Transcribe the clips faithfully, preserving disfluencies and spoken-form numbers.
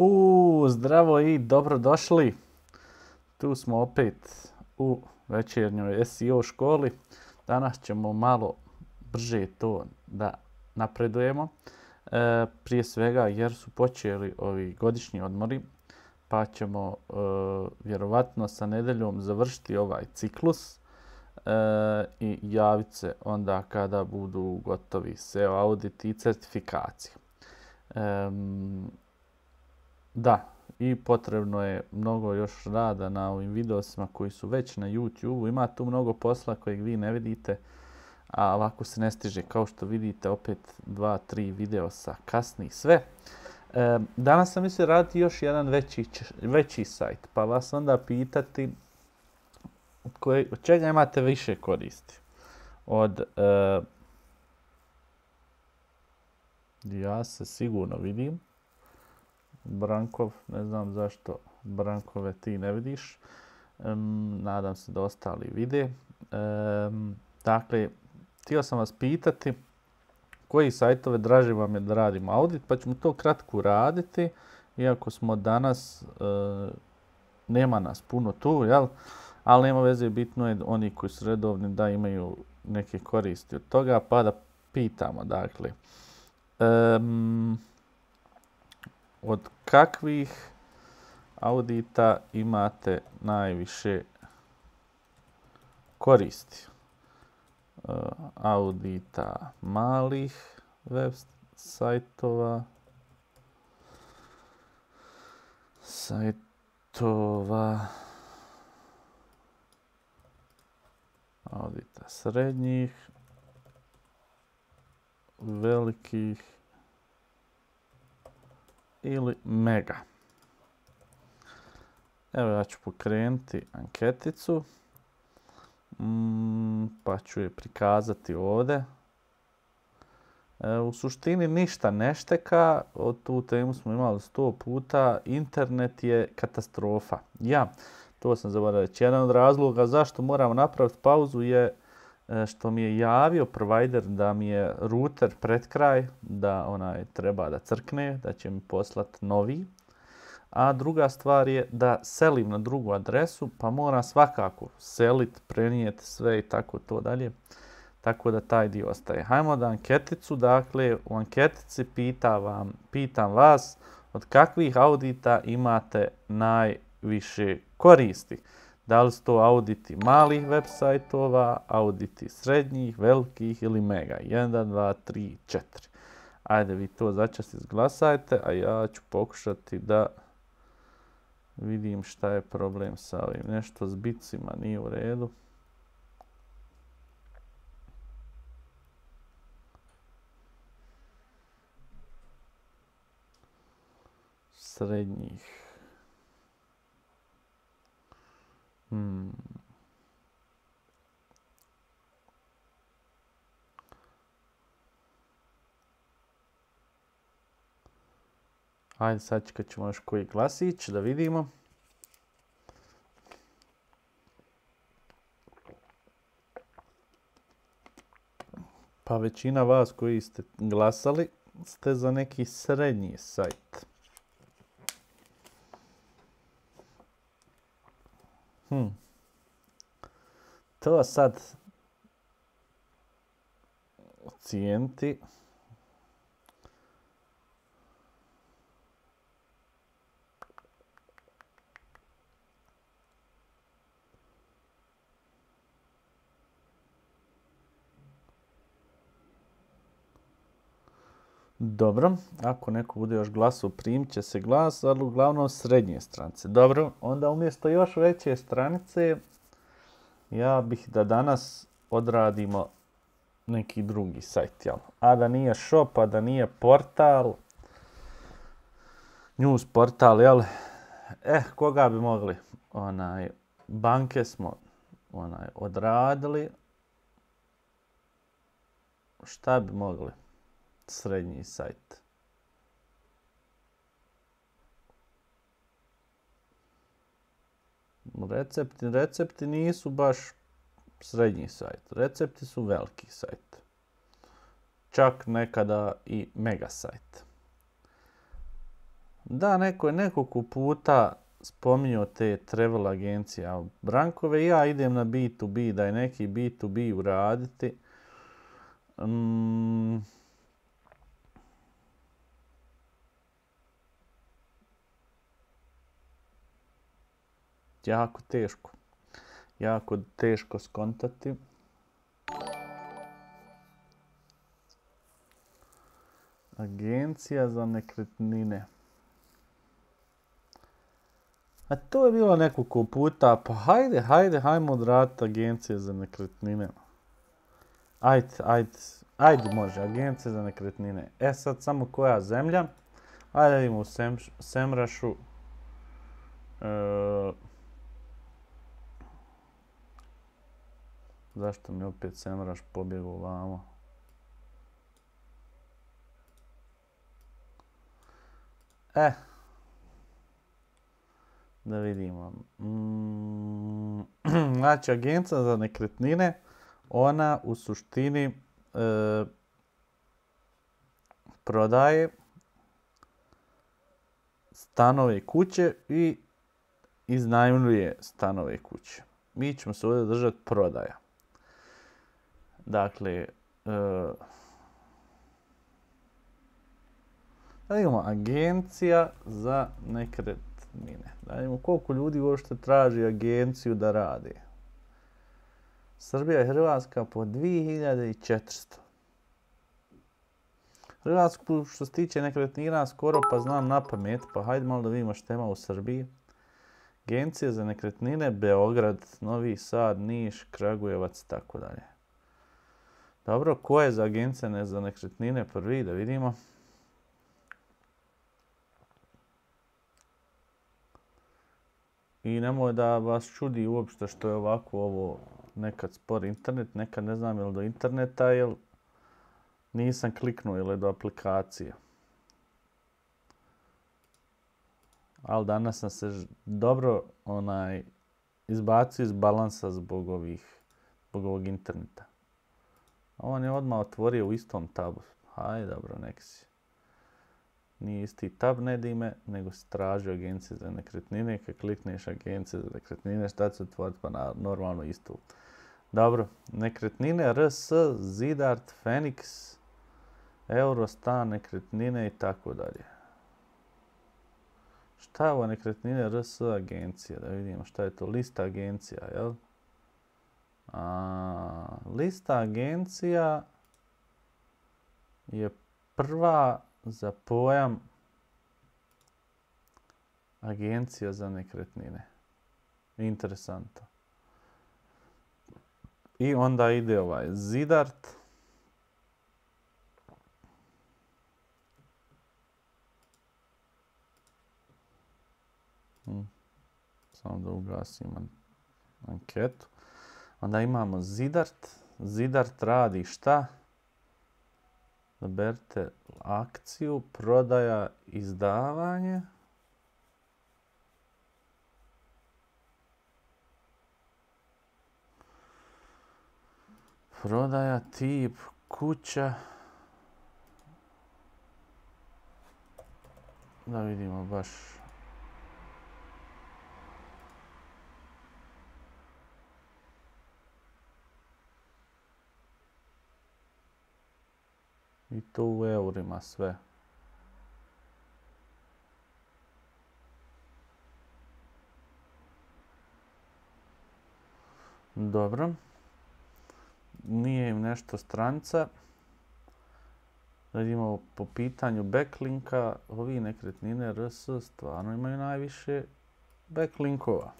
U, zdravo i dobrodošli. Tu smo opet u večernjoj S E O školi. Danas ćemo malo brže to da napredujemo. E, prije svega jer su počeli ovi godišnji odmori, pa ćemo e, vjerovatno sa nedeljom završiti ovaj ciklus e, i javiti se onda kada budu gotovi S E O audit i certifikacije. E, Da, i potrebno je mnogo još rada na ovim videosima koji su već na YouTube-u. Ima tu mnogo posla kojeg vi ne vidite, a ovako se ne stiže. Kao što vidite, opet dva, tri videosa kasni sve. E, danas sam mislio raditi još jedan veći, veći sajt, pa vas onda pitati od, koje, od čega imate više koristi. Od, e, ja se sigurno vidim. Brankov, ne znam zašto Brankove ti ne vidiš. Um, nadam se da ostali vide. Um, dakle, htio sam vas pitati koji sajtove draže vam je da radimo audit, pa ćemo to kratko raditi. Iako smo danas, uh, nema nas puno tu, jel? Ali nema veze, bitno je oni koji su redovni da imaju neke koristi od toga, pa da pitamo, dakle. Um, Od kakvih audita imate najviše koristi? Uh, audita malih web sajtova, sajtova, audita srednjih, velikih ili mega. Evo ja ću pokrenuti anketicu, mm, pa ću je prikazati ovdje. E, u suštini ništa ne šteka, o tu temu smo imali sto puta, internet je katastrofa. Ja, to sam zaboravio reći. Jedan od razloga zašto moram napraviti pauzu je što mi je javio provider da mi je router pred kraj, da onaj treba da crkne, da će mi poslati novi. A druga stvar je da selim na drugu adresu, pa moram svakako seliti, prenijeti sve i tako to dalje. Tako da taj dio ostaje. Hajmo da anketicu, dakle u anketici pitam, vam, pitam vas od kakvih audita imate najviše koristi. Da li su to auditi malih web sajtova, auditi srednjih, velikih ili mega? jedan, dva, tri, četiri. Ajde vi to začas izglasajte, a ja ću pokušati da vidim šta je problem sa ovim. Nešto s bicima nije u redu. Srednjih. Hmm. Ajde, sad čekat ćemo još koji glasić da vidimo. Pa većina vas koji ste glasali ste za neki srednji sajt. Hmm. To sad ocijeniti. Dobro, ako neko bude još glasao, primit će se glas, ali uglavnom srednje stranice. Dobro, onda umjesto još veće stranice, ja bih da danas odradimo neki drugi sajt, jel? A da nije shop, a da nije portal, news portal, jel? Eh, koga bi mogli? Onaj, banke smo onaj, odradili. Šta bi mogli? Srednji sajt. Recepti, recepti nisu baš srednji sajt. Recepti su veliki sajt. Čak nekada i mega sajt. Da, neko je nekoliko puta spominjao te travel agencije, a Brankove i ja idem na B to B, da je neki B to B uraditi. Mm, jako teško. Jako teško skontati. Agencija za nekretnine. A to je bilo nekoliko puta, pa hajde, hajde, hajmo odraditi agencije za nekretnine. Ajde, ajde, ajde može, agencije za nekretnine. E sad samo koja zemlja? Ajde vidimo u Sem, Semrašu. E, zašto mi opet Semraš pobjegao vamo? E, da vidimo. Mm, znači, agencija za nekretnine, ona u suštini e, prodaje stanove i kuće i iznajmljuje stanove i kuće. Mi ćemo se ovdje držati prodaja. Dakle, e, da vidimo agencija za nekretnine. Da vidimo koliko ljudi uopšte traži agenciju da radi. Srbija i Hrvatska po dvije hiljade četiristo. Hrvatsku što se tiče nekretnina skoro pa znam na pamet, pa hajde malo da vidimo što ima u Srbiji. Agencija za nekretnine, Beograd, Novi Sad, Niš, Kragujevac i tako dalje. Dobro, ko je za agencije za nekretnine prvi, da vidimo. I nemoj da vas čudi uopšte što je ovako ovo nekad spor internet, nekad ne znam je li do interneta ili nisam kliknuo ili do aplikacije. Ali danas sam se dobro onaj, izbacio iz balansa zbog ovih, zbog ovog interneta. On je odmah otvorio u istom tabu. Hajde, dobro, nek si. Nije isti tab, ne dime, nego si tražio agencije za nekretnine. Kad klikneš agencije za nekretnine, šta će se otvoriti? Pa na, normalno istu. Dobro, nekretnine, R S, Zidart, Fenix, Eurostan, nekretnine i tako dalje. Šta je ovo nekretnine, R S agencija? Da vidimo šta je to. Lista agencija, jel? A, lista agencija je prva za pojam agencija za nekretnine. Interesantno. I onda ide ovaj Zidart. Hmm. Samo da ugasim anketu. Onda imamo Zidart. Zidart radi šta? Zaberite akciju, prodaja, izdavanje. Prodaja, tip, kuća. Da vidimo baš. I to u eurima sve. Dobro. Nije im nešto stranca. Vidimo po pitanju backlinka, ovi nekretnine R S stvarno imaju najviše backlinkova.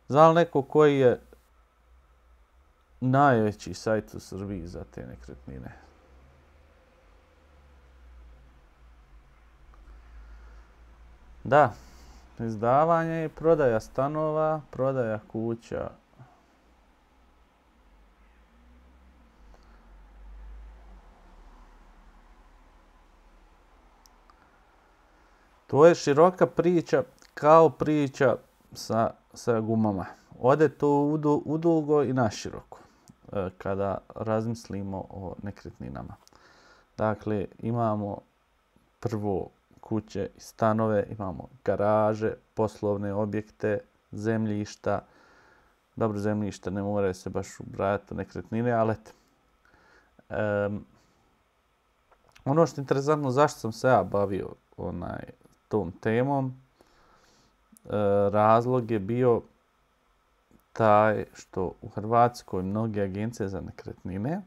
Zna li neko koji je najveći sajt u Srbiji za te nekretnine? Da, izdavanje i prodaja stanova, prodaja kuća. To je široka priča kao priča sa, sa gumama. Ode to udu, udugo i naširoko kada razmislimo o nekretninama. Dakle, imamo prvo kuće i stanove, imamo garaže, poslovne objekte, zemljišta. Dobro, zemljište ne mora se baš ubrajati u nekretnine, ali eto. Um, ono što je interesantno, zašto sam se ja bavio onaj, tom temom, e, razlog je bio taj što u Hrvatskoj mnoge agencije za nekretnine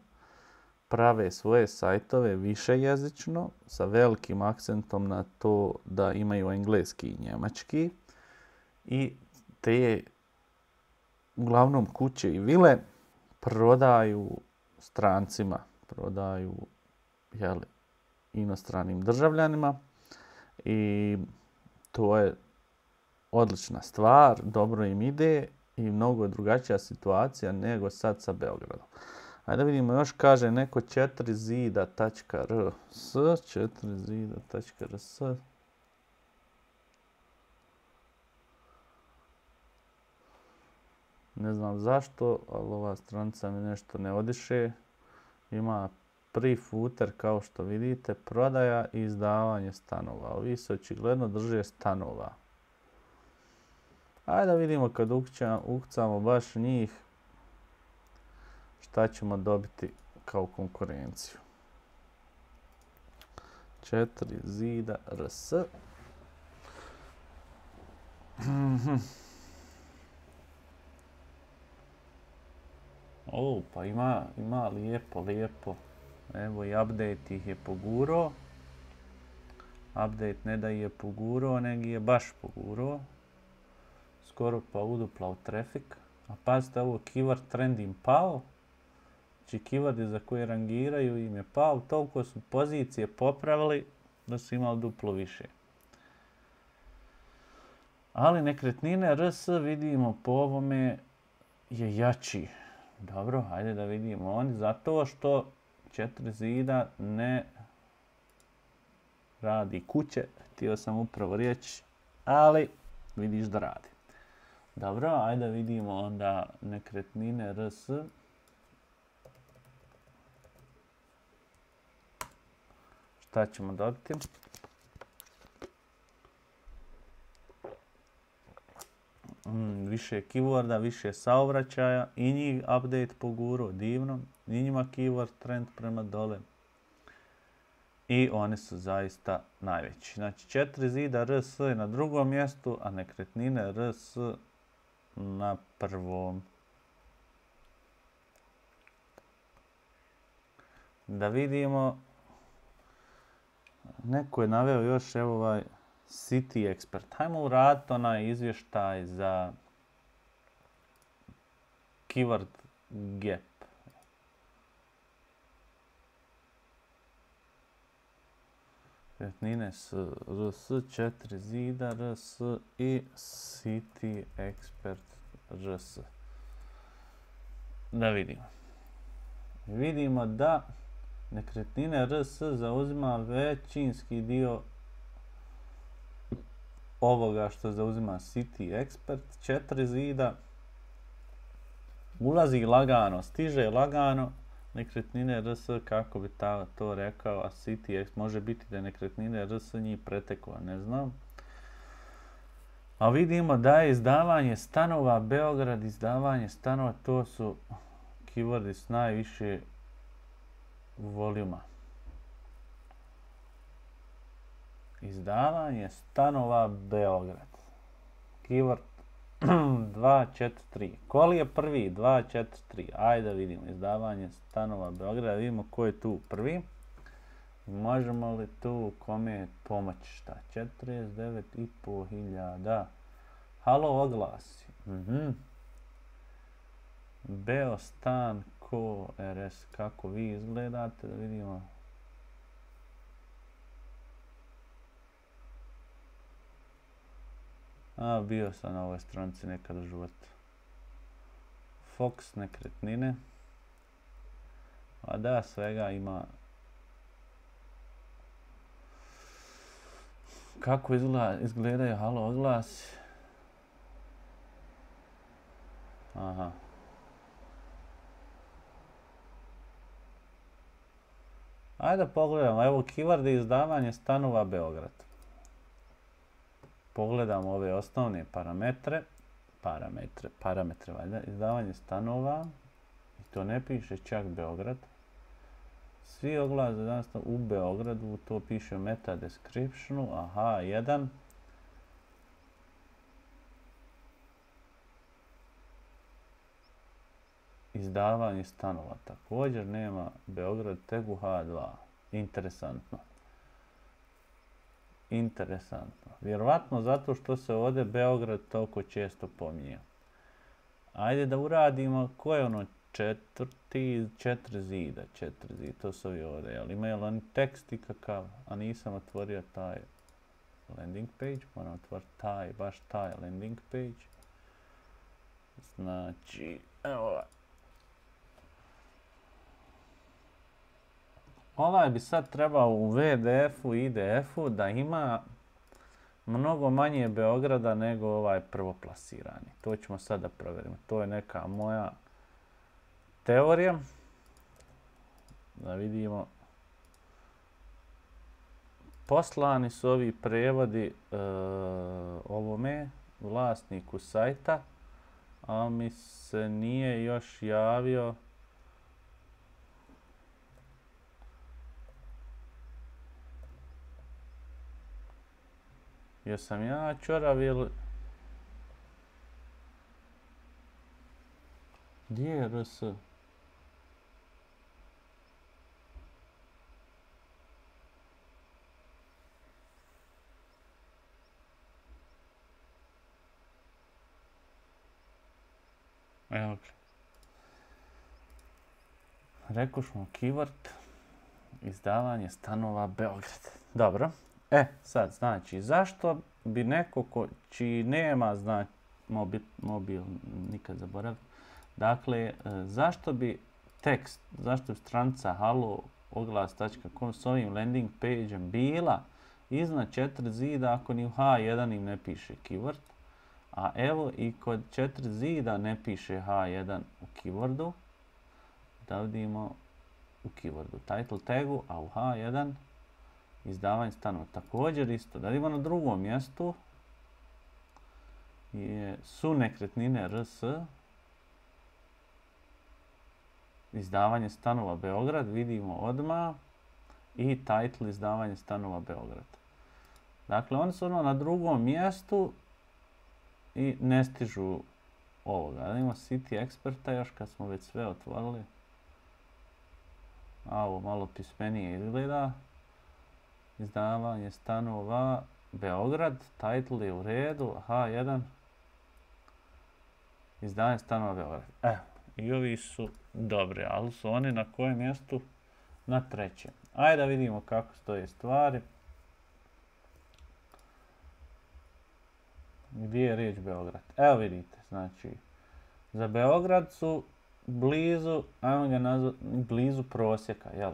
prave svoje sajtove višejezično sa velikim akcentom na to da imaju engleski i njemački i te uglavnom kuće i vile prodaju strancima, prodaju jeli, inostranim državljanima i to je odlična stvar, dobro im ide i mnogo drugačija situacija nego sad sa Beogradom. Ajde da vidimo, još kaže neko četiri zida tačka r s, četiri zida tačka r s. Ne znam zašto, ali ova stranica mi nešto ne odiše. Ima prvi footer, kao što vidite, prodaja i izdavanje stanova. Ovi se očigledno drže stanova. Ajde da vidimo kad ukucamo baš njih šta ćemo dobiti kao konkurenciju. četiri zida r s. O, pa ima, ima lijepo, lijepo. Evo i update ih je poguro. Update ne da je poguro, nego je baš poguro. Skoro pa uduplao traffic. A pazite, ovo keyword trend im pao. Znači keywordi za koje rangiraju im je pao. Toliko su pozicije popravili da su imali duplo više. Ali nekretnine R S vidimo po ovome je jači. Dobro, hajde da vidimo oni. Zato što četiri zida ne radi kuće. Htio sam upravo reći, ali vidiš da radi. Dobro, ajde da vidimo onda nekretnine R S. Šta ćemo dobiti? Mm, više keyworda, više saobraćaja i njih update poguro, divno. I njima keyword trend prema dole. I oni su zaista najveći. Znači četiri zida R S je na drugom mjestu, a nekretnine R S na prvom. Da vidimo. Neko je naveo još evo ovaj City Expert. Hajmo uraditi onaj izvještaj za keyword gap. Nekretnine s R S, četiri zida R S i City Expert R S. Da vidimo. Vidimo da nekretnine R S zauzima većinski dio ovoga što zauzima City Expert. četiri zida ulazi lagano, stiže lagano. Nekretnine R S, kako bi ta, to rekao, a City Expert može biti da je nekretnine R S njih preteklo, ne znam. A vidimo da je izdavanje stanova, Beograd, izdavanje stanova, to su keywordi s najviše voljuma. Izdavanje stanova Beograd. Keyword dva četiri tri. Koli je prvi? dva četiri tri. Ajde da vidimo. Izdavanje stanova Beograda. Vidimo ko je tu prvi. Možemo li tu kome pomoći? Šta? četrdeset devet i pol hiljada. Halo, oglasi. Mhm. Beostan ko R S. Kako vi izgledate? Da vidimo. A, bio sam na ovoj stranici nekada u životu. Fox nekretnine. A da, svega ima. Kako izgleda, izgledaju halo oglasi? Aha. Ajde pogledamo. Evo keyword izdavanje stanova Beograd. pogledamo ove osnovne parametre, parametre, parametre valjda, izdavanje stanova, i to ne piše čak Beograd. Svi oglasi za danas u Beogradu, to piše u meta descriptionu, aha, jedan. Izdavanje stanova, također nema Beograd, tegu ha dva. Interesantno. Interesantno. Vjerovatno zato što se ovdje Beograd toliko često pominje. Ajde da uradimo, ko je ono četvrti, četiri zida, četiri zida, to su ovi ovdje, jel imaju li oni tekst ikakav, a nisam otvorio taj landing page, moram otvoriti taj, baš taj landing page. Znači, evo ovaj. Ovaj bi sad trebao u ve de efu i i de efu da ima mnogo manje Beograda nego ovaj prvoplasirani. To ćemo sad da provjerimo. To je neka moja teorija. Da vidimo. Poslani su ovi prevodi e, ovome vlasniku sajta, a mi se nije još javio jesam ja čorav ili... Gdje je er es? Evo ga. Rekošmo keyword, izdavanje stanova Beograd. Dobro. E, sad, znači, zašto bi neko ko, čiji nema znači, mobil, mobil, nikad zaboravim, dakle, zašto bi tekst, zašto bi stranica halo oglas točka com s ovim landing page-em bila iznad četiri zida ako ni u ha jedan im ne piše keyword, a evo i kod četiri zida ne piše ha jedan u keywordu, da vidimo u keywordu title tagu, a u ha jedan izdavanje stanova. Također isto, da vidimo na drugom mjestu je, su nekretnine er es, izdavanje stanova Beograd, vidimo odmah, i title izdavanje stanova Beograd. Dakle, oni su ono na drugom mjestu i ne stižu ovoga. Da vidimo City Experta još kad smo već sve otvorili. A ovo malo pismenije izgleda. Izdavanje stanova Beograd, title je u redu, ha jedan, izdavanje stanova Beograd. Evo, i ovi su dobri, ali su oni na kojem mjestu? Na trećem. Ajde da vidimo kako stoje stvari. Gdje je riječ Beograd? Evo vidite, znači, za Beograd su blizu, ajmo ga nazvati, blizu prosjeka, jel?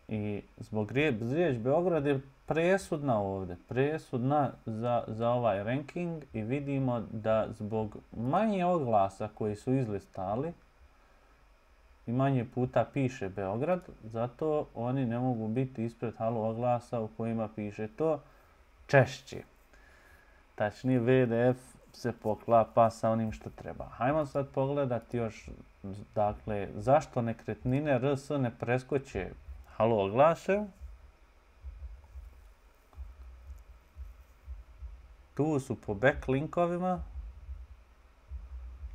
I zbog riječ Beograd je presudna ovdje, presudna za, za ovaj ranking i vidimo da zbog manje oglasa koji su izlistali i manje puta piše Beograd, zato oni ne mogu biti ispred halo oglasa u kojima piše to češće. Tačnije ve de ef se poklapa sa onim što treba. Hajmo sad pogledati još, dakle, zašto nekretnine er es ne preskoče halo oglase. Tu su po backlinkovima,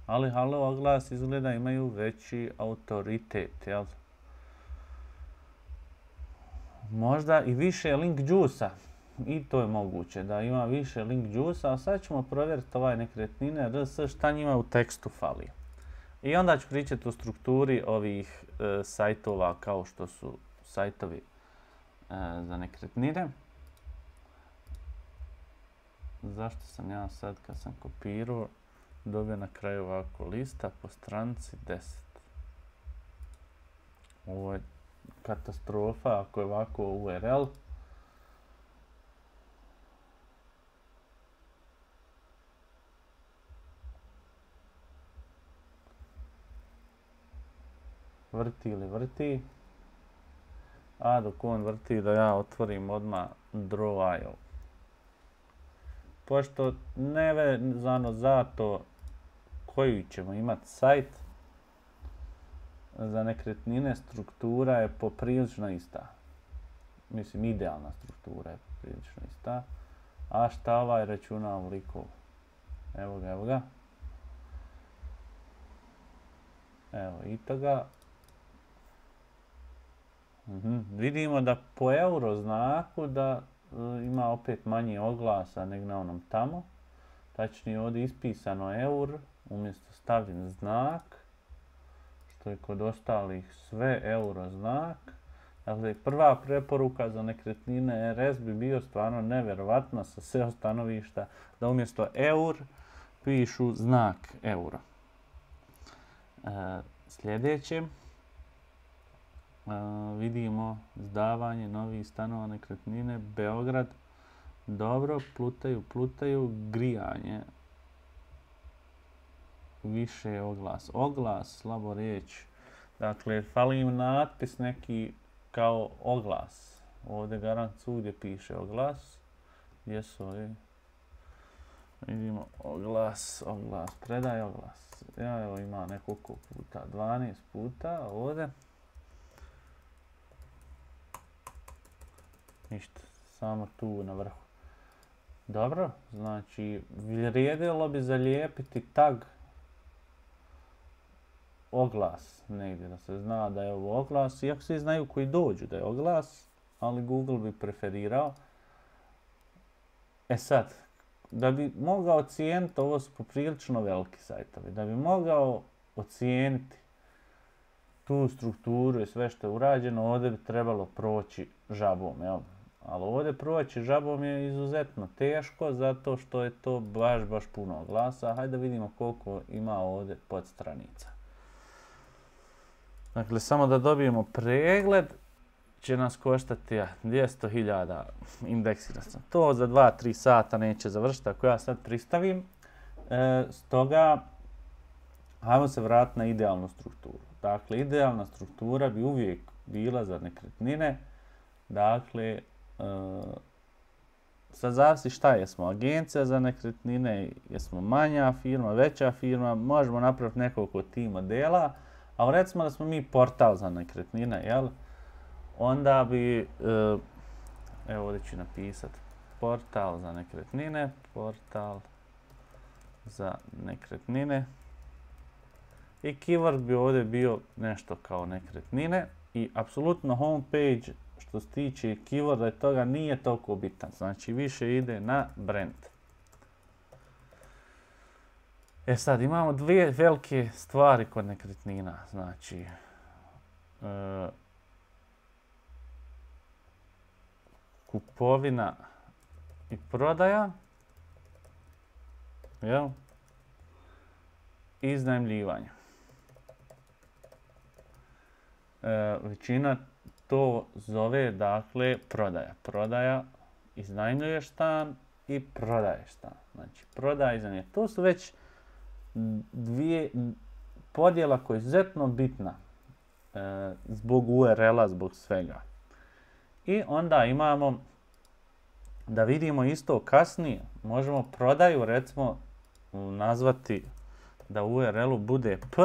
ali halo oglas izgleda imaju veći autoritet, jel? Možda i više link juice-a. I to je moguće da ima više link juice-a, a sad ćemo provjeriti ovaj nekretnine er es šta njima u tekstu fali. I onda ću pričati o strukturi ovih e, sajtova kao što su sajtovi e, za nekretnine. Zašto sam ja sad kad sam kopirao dobio na kraju ovako lista po stranici deset. Ovo je katastrofa ako je ovako u er el. Vrti ili vrti. A dok on vrti da ja otvorim odmah Draw punto i o. pošto nevezano za to koji ćemo imati sajt, za nekretnine struktura je poprilično ista. Mislim, idealna struktura je poprilično ista. A šta ovaj računa ovoliko? Evo ga, evo ga. Evo i toga. Mhm. Vidimo da po euro znaku da e, ima opet manje oglasa nego na onom tamo. Tačnije ovdje ispisano eur, umjesto stavljen znak, što je kod ostalih sve euro znak. Dakle, prva preporuka za nekretnine R S bi bio stvarno nevjerovatna sa S E O stanovišta, da umjesto eur pišu znak euro. E, sljedeće, e, vidimo izdavanje novih stanova nekretnine, Beograd. Dobro, plutaju, plutaju, grijanje. Više oglas. Oglas, slabo riječ. Dakle, fali im natpis neki kao oglas. Ovdje garant svugdje piše oglas. Gdje su ovi? Vidimo oglas, oglas, predaj oglas. Ja evo ima nekoliko puta, dvanaest puta ovdje. Ništa, samo tu na vrhu. Dobro, znači vrijedilo bi zalijepiti tag oglas negdje, da se zna da je ovo oglas, iako svi znaju koji dođu da je oglas, ali Google bi preferirao. E sad, da bi mogao ocijeniti, ovo su poprilično veliki sajtovi, da bi mogao ocijeniti tu strukturu i sve što je urađeno, ovdje bi trebalo proći žabom, jel? Ali ovdje proći žabom je izuzetno teško, zato što je to baš, baš puno oglasa. Hajde da vidimo koliko ima ovdje podstranica. Dakle, samo da dobijemo pregled, će nas koštati ja, dvjesto hiljada indeksirati. To za dva do tri sata neće završiti ako ja sad pristavim. E, stoga, hajmo se vratiti na idealnu strukturu. Dakle, idealna struktura bi uvijek bila za nekretnine. Dakle, Uh, sad zavisi šta jesmo, agencija za nekretnine, jesmo manja firma, veća firma, možemo napraviti nekoliko tih modela, a recimo da smo mi portal za nekretnine, jel? Onda bi, uh, evo ovdje ću napisati, portal za nekretnine, portal za nekretnine i keyword bi ovdje bio nešto kao nekretnine i apsolutno homepage što se tiče keyworda i toga nije toliko bitan. Znači više ide na brand. E sad imamo dvije velike stvari kod nekretnina. Znači e, kupovina i prodaja. Jel? I iznajmljivanje. E, većina to zove, dakle, prodaja. Prodaja, iznajmljuješ stan i prodaješ stan. Znači, prodaja i iznajmljuje. To su već dvije podjela koja je izuzetno bitna e, zbog U R L-a, zbog svega. I onda imamo, da vidimo isto kasnije, možemo prodaju, recimo, nazvati da u U R L-u bude P,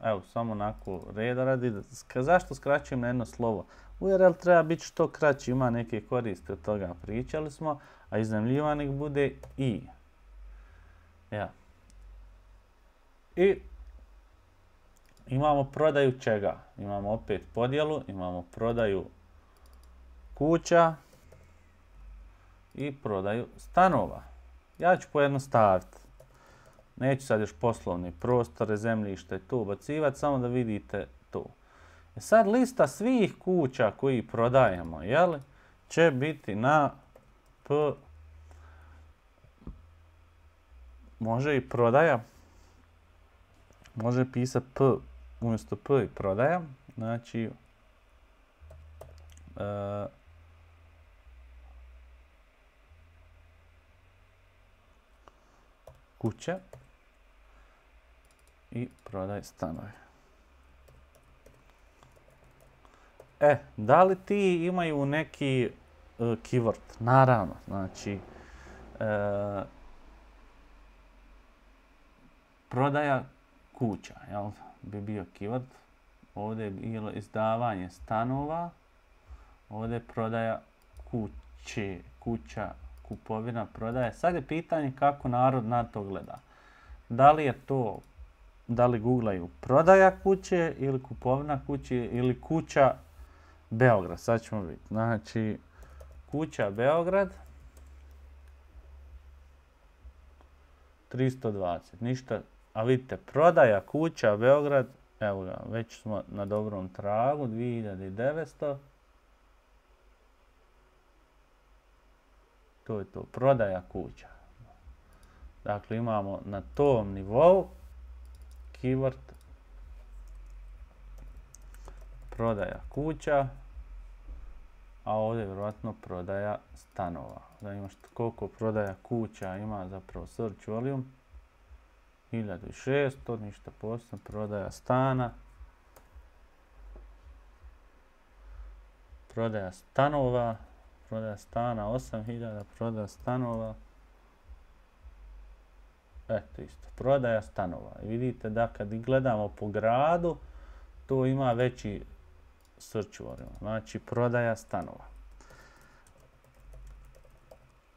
evo, samo onako reda radi. Zašto skraćujem na jedno slovo? U R L treba biti što kraći, ima neke koriste od toga, pričali smo, a iznajmljivanik bude I. Ja. I imamo prodaju čega? Imamo opet podjelu, imamo prodaju kuća i prodaju stanova. Ja ću pojednostaviti. Neću sad još poslovni prostore, zemljište i to ubacivati, samo da vidite to. E sad lista svih kuća koji prodajemo, jel, će biti na P, može i prodaja, može pisati P umjesto P i prodaja, znači e, kuća i prodaj stanove. E, da li ti imaju neki uh, keyword? Naravno, znači, uh, e, prodaja kuća, jel? Bi bio keyword. Ovdje je bilo izdavanje stanova. Ovdje je prodaja kuće, kuća, kupovina, prodaja. Sad je pitanje kako narod na to gleda. Da li je to, da li googlaju prodaja kuće ili kupovina kuće ili kuća Beograd. Sad ćemo vidjeti. Znači, kuća Beograd. tristo dvadeset. Ništa. A vidite, prodaja kuća Beograd. Evo ga, već smo na dobrom tragu. dvije hiljade devetsto. To je to. Prodaja kuća. Dakle, imamo na tom nivou keyword prodaja kuća, a ovdje je vjerojatno prodaja stanova. Da imaš koliko prodaja kuća ima zapravo search volume. hiljadu šesto, ništa posebno, prodaja stana. Prodaja stanova, prodaja stana osam hiljada, prodaja stanova. Eto isto, prodaja stanova. I vidite da kad gledamo po gradu, to ima veći search volume. Znači, prodaja stanova.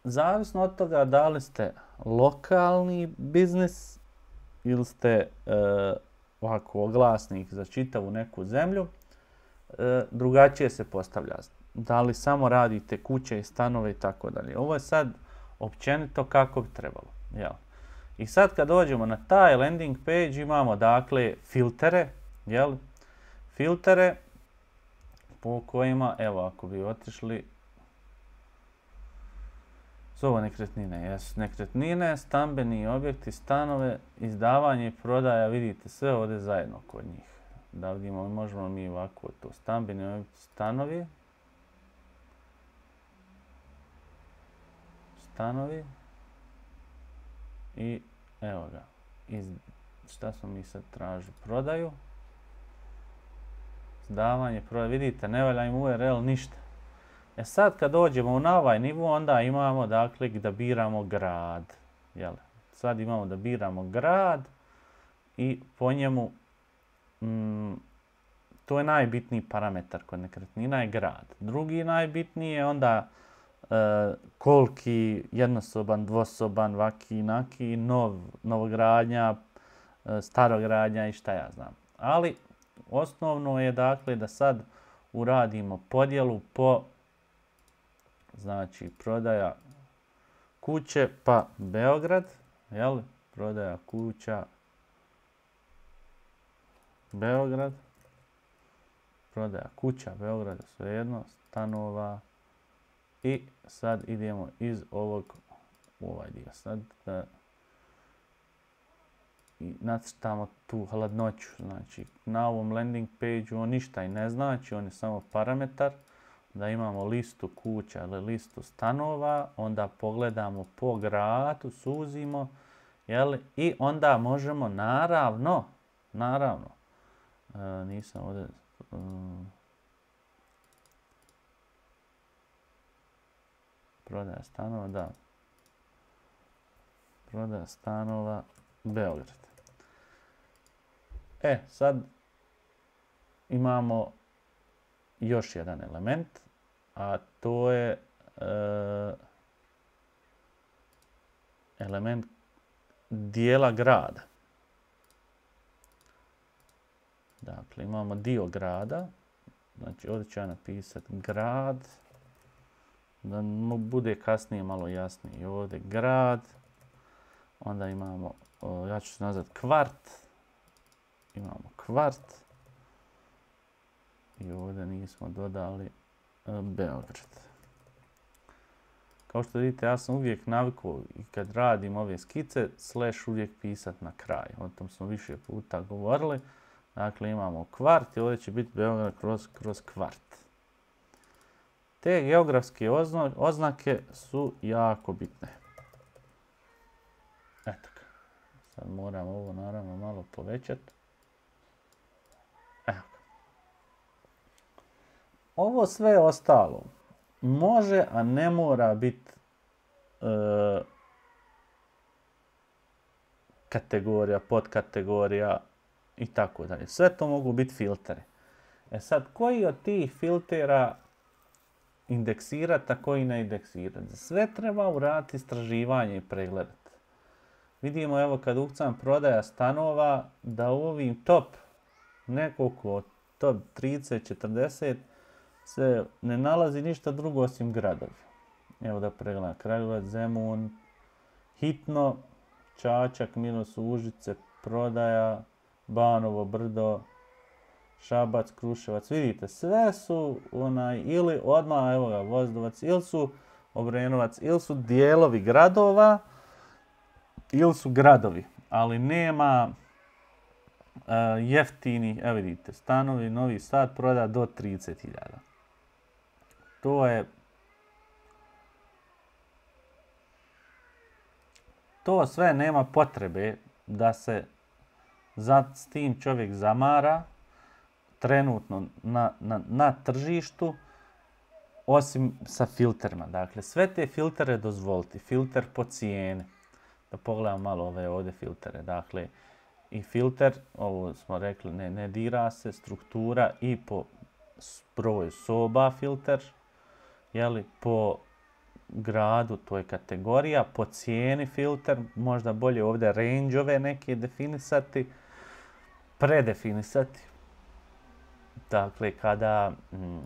Zavisno od toga da li ste lokalni biznis ili ste e, ovako oglasnik za čitavu neku zemlju, e, drugačije se postavlja. Da li samo radite kuće i stanove i tako dalje. Ovo je sad općenito kako bi trebalo. Jel? I sad kad dođemo na taj landing page imamo dakle filtere, jel? Filtere po kojima, evo ako bi otišli, su ovo nekretnine, jesu nekretnine, stambeni objekti, stanove, izdavanje i prodaja, vidite sve ovdje zajedno kod njih. Da vidimo, možemo mi ovako to, stambeni objekti, stanovi, stanovi, i evo ga, iz, šta smo mi sad tražili, prodaju, izdavanje, prodaju, vidite, ne valja im U R L ništa. E sad kad dođemo na ovaj nivo, onda imamo dakle da biramo grad. Jel? Sad imamo da biramo grad i po njemu, mm, to je najbitniji parametar kod nekretnina je grad. Drugi najbitniji je onda e, koliki, jednosoban, dvosoban, vaki, naki, nov, novogradnja, e, starogradnja i šta ja znam. Ali osnovno je dakle da sad uradimo podjelu po, znači prodaja kuće pa Beograd, jel? Prodaja kuća Beograd, prodaja kuća Beograda, svejedno, stanova, i sad idemo iz ovog u ovaj dio. Sad da i nacrtamo tu hladnoću, znači na ovom landing page on ništa i ne znači, on je samo parametar. Da imamo listu kuća ili listu stanova, onda pogledamo po gradu, suzimo, jel? I onda možemo naravno, naravno, e, nisam ovdje, um, prodaja stanova, da, prodaja stanova, Beograd. E, sad imamo još jedan element, a to je e, element dijela grada. Dakle, imamo dio grada, znači ovdje ću ja napisati grad, da mu bude kasnije malo jasnije. Ovdje grad, onda imamo, o, ja ću se nazvati kvart, imamo kvart, i ovdje nismo dodali Beograd. Kao što vidite, ja sam uvijek navikao i kad radim ove skice, slash uvijek pisat na kraj. O tom smo više puta govorili. Dakle, imamo kvart i ovdje će biti Beograd kroz, kroz kvart. Te geografske ozno, oznake su jako bitne. Eto ga. Sad moram ovo naravno malo povećati. Evo. Ovo sve ostalo može, a ne mora biti e, kategorija, podkategorija i tako dalje. Sve to mogu biti filteri. E sad, koji od tih filtera indeksirati, a koji ne indeksirati? Sve treba uraditi istraživanje i pregledati. Vidimo, evo, kad ukucam prodaja stanova, da u ovim top nekoliko, top trideset četrdeset, se ne nalazi ništa drugo osim gradovi. Evo da pregledam. Kragujevac, Zemun, Hitno, Čačak, minus Užice, prodaja, Banovo Brdo, Šabac, Kruševac. Vidite, sve su onaj, ili odmah, evo ga, Voždovac, ili su Obrenovac, ili su dijelovi gradova, ili su gradovi. Ali nema uh, jeftini, evo vidite, stanovi, Novi Sad proda do trideset hiljada. To je To sve nema potrebe da se za, s tim čovjek zamara trenutno na, na, na tržištu, osim sa filterima. Dakle, sve te filtere dozvoliti. Filter po cijeni. Da pogledam malo ove ovdje filtere. Dakle, i filter, ovo smo rekli, ne, ne dira se, struktura i po broju soba filter, jeli, po gradu, to je kategorija, po cijeni filter, možda bolje ovdje range-ove neke definisati, predefinisati. Dakle, kada, mm,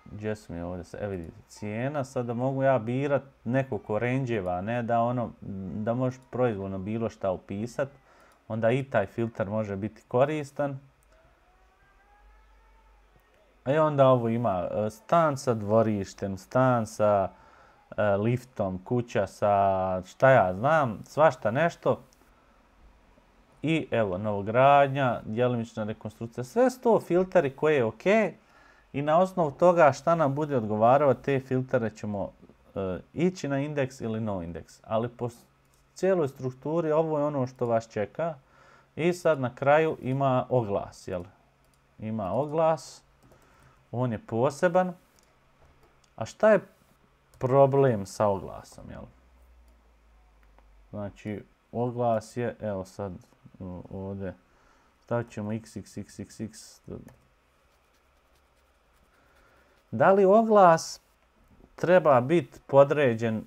gdje su mi ovdje, evo vidite, cijena, sada mogu ja birat nekoliko range-eva, ne da ono, da možeš proizvoljno bilo šta upisat, onda i taj filter može biti koristan. I onda ovo ima stan sa dvorištem, stan sa e, liftom, kuća sa šta ja znam, svašta nešto. I evo, novogradnja, djelomična rekonstrukcija. Sve su to filteri koje je ok. I na osnovu toga šta nam bude odgovarao, te filtere ćemo e, ići na indeks ili no indeks. Ali po cijeloj strukturi ovo je ono što vas čeka. I sad na kraju ima oglas, jel? Ima oglas. On je poseban. A šta je problem sa oglasom, jel? Znači, oglas je, evo sad ovdje, stavit ćemo iks iks iks iks iks. Da li oglas treba biti podređen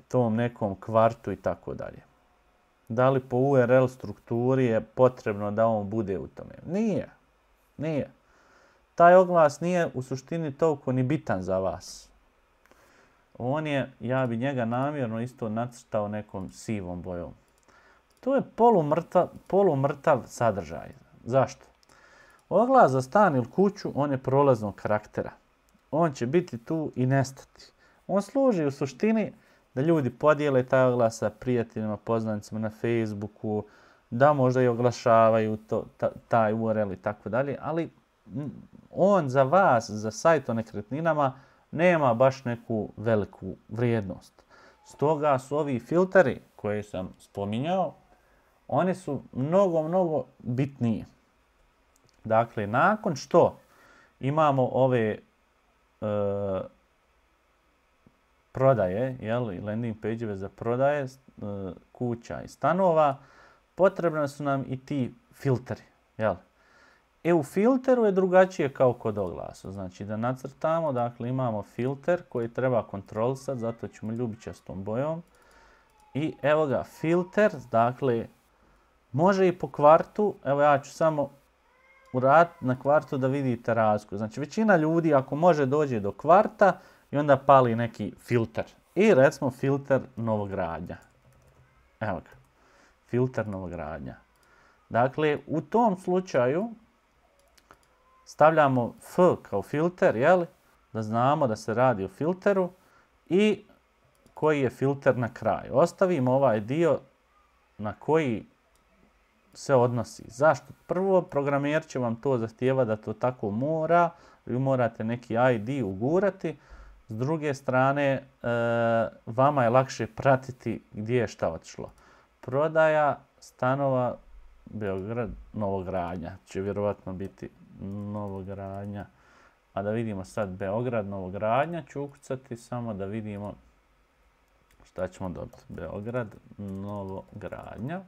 tom nekom kvartu i tako dalje? Da li po U R L strukturi je potrebno da on bude u tome? Nije. Nije. Taj oglas nije u suštini toliko ni bitan za vas. On je, ja bi njega namjerno isto nacrtao nekom sivom bojom. To je polumrtav, polumrtav sadržaj. Zašto? Oglas za stan ili kuću, on je prolaznog karaktera. On će biti tu i nestati. On služi u suštini da ljudi podijele taj oglas sa prijateljima, poznanicima na Facebooku, da možda i oglašavaju to, ta, taj U R L i tako dalje, ali on za vas, za sajt o nekretninama, nema baš neku veliku vrijednost. Stoga su ovi filteri koje sam spominjao, oni su mnogo, mnogo bitniji. Dakle, nakon što imamo ove e, prodaje, jel, landing page-eve za prodaje e, kuća i stanova, potrebni su nam i ti filteri, jel? E u filteru je drugačije kao kod oglasa. Znači da nacrtamo, dakle imamo filter koji treba kontrolisati, zato ćemo ljubičastom bojom. I evo ga, filter, dakle, može i po kvartu, evo ja ću samo uraditi na kvartu da vidite razliku. Znači većina ljudi ako može dođe do kvarta i onda pali neki filter. I recimo filter novogradnja. Evo ga, filter novogradnja. Dakle, u tom slučaju stavljamo F kao filter, jel? Da znamo da se radi o filteru i koji je filter na kraju. Ostavimo ovaj dio na koji se odnosi. Zašto? Prvo, programer će vam to zahtijeva da to tako mora. Vi morate neki I D ugurati. S druge strane, e, vama je lakše pratiti gdje je šta otišlo. Prodaja stanova Beograd, novogradnja. Će vjerovatno biti novogradnja. A da vidimo sad Beograd, novogradnja ću ukucati samo da vidimo šta ćemo dobiti? Beograd, novogradnja.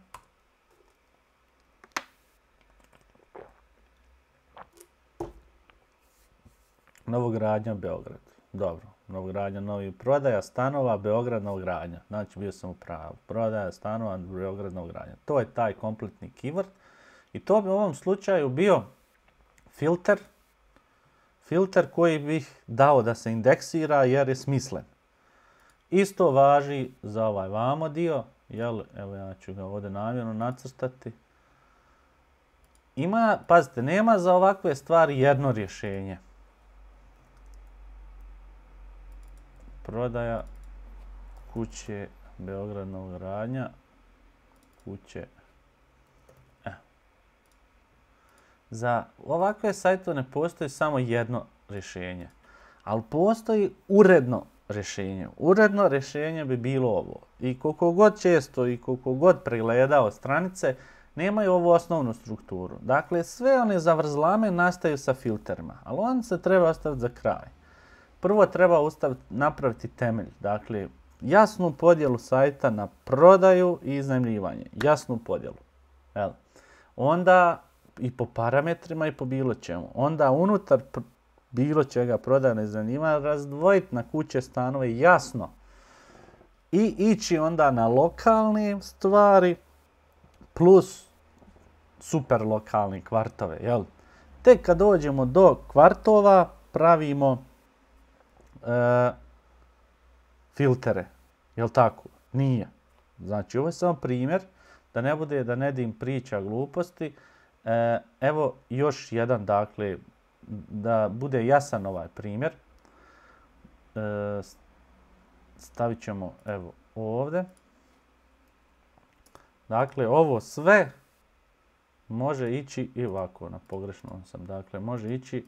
Novogradnja, Beograd. Dobro. Novogradnja, novi prodaja stanova, Beograd, novogradnja. Znači, bio sam u pravu. Prodaja stanova, Beograd, novogradnja. To je taj kompletni keyword. I to bi u ovom slučaju bio filter. Filter koji bih dao da se indeksira jer je smislen. Isto važi za ovaj vamo dio. Jel, evo ja ću ga ovdje namjerno nacrtati. Ima, pazite, nema za ovakve stvari jedno rješenje. Prodaja kuće, Beograd, novogradnja, kuće. E. Za ovakve sajtove ne postoji samo jedno rješenje, ali postoji uredno rješenje. Uredno rješenje bi bilo ovo. I koliko god često i koliko god pregledao stranice, nemaju ovu osnovnu strukturu. Dakle, sve one zavrzlame nastaju sa filterima, ali on se treba ostaviti za kraj. Prvo treba ustaviti, napraviti temelj, dakle, jasnu podjelu sajta na prodaju i iznajmljivanje. Jasnu podjelu. Jel? Onda i po parametrima i po bilo čemu. Onda unutar bilo čega prodaja i iznajmljivanja razdvojiti na kuće, stanove jasno. I ići onda na lokalne stvari plus super lokalni kvartove. Jel? Tek kad dođemo do kvartova pravimo E, filtere, jel tako? Nije. Znači, ovo je samo primjer, da ne bude da Nedim priča gluposti. E, evo još jedan, dakle, da bude jasan ovaj primjer. E, stavit ćemo, evo, ovdje. Dakle, ovo sve može ići i ovako, na pogrešnom sam. Dakle, može ići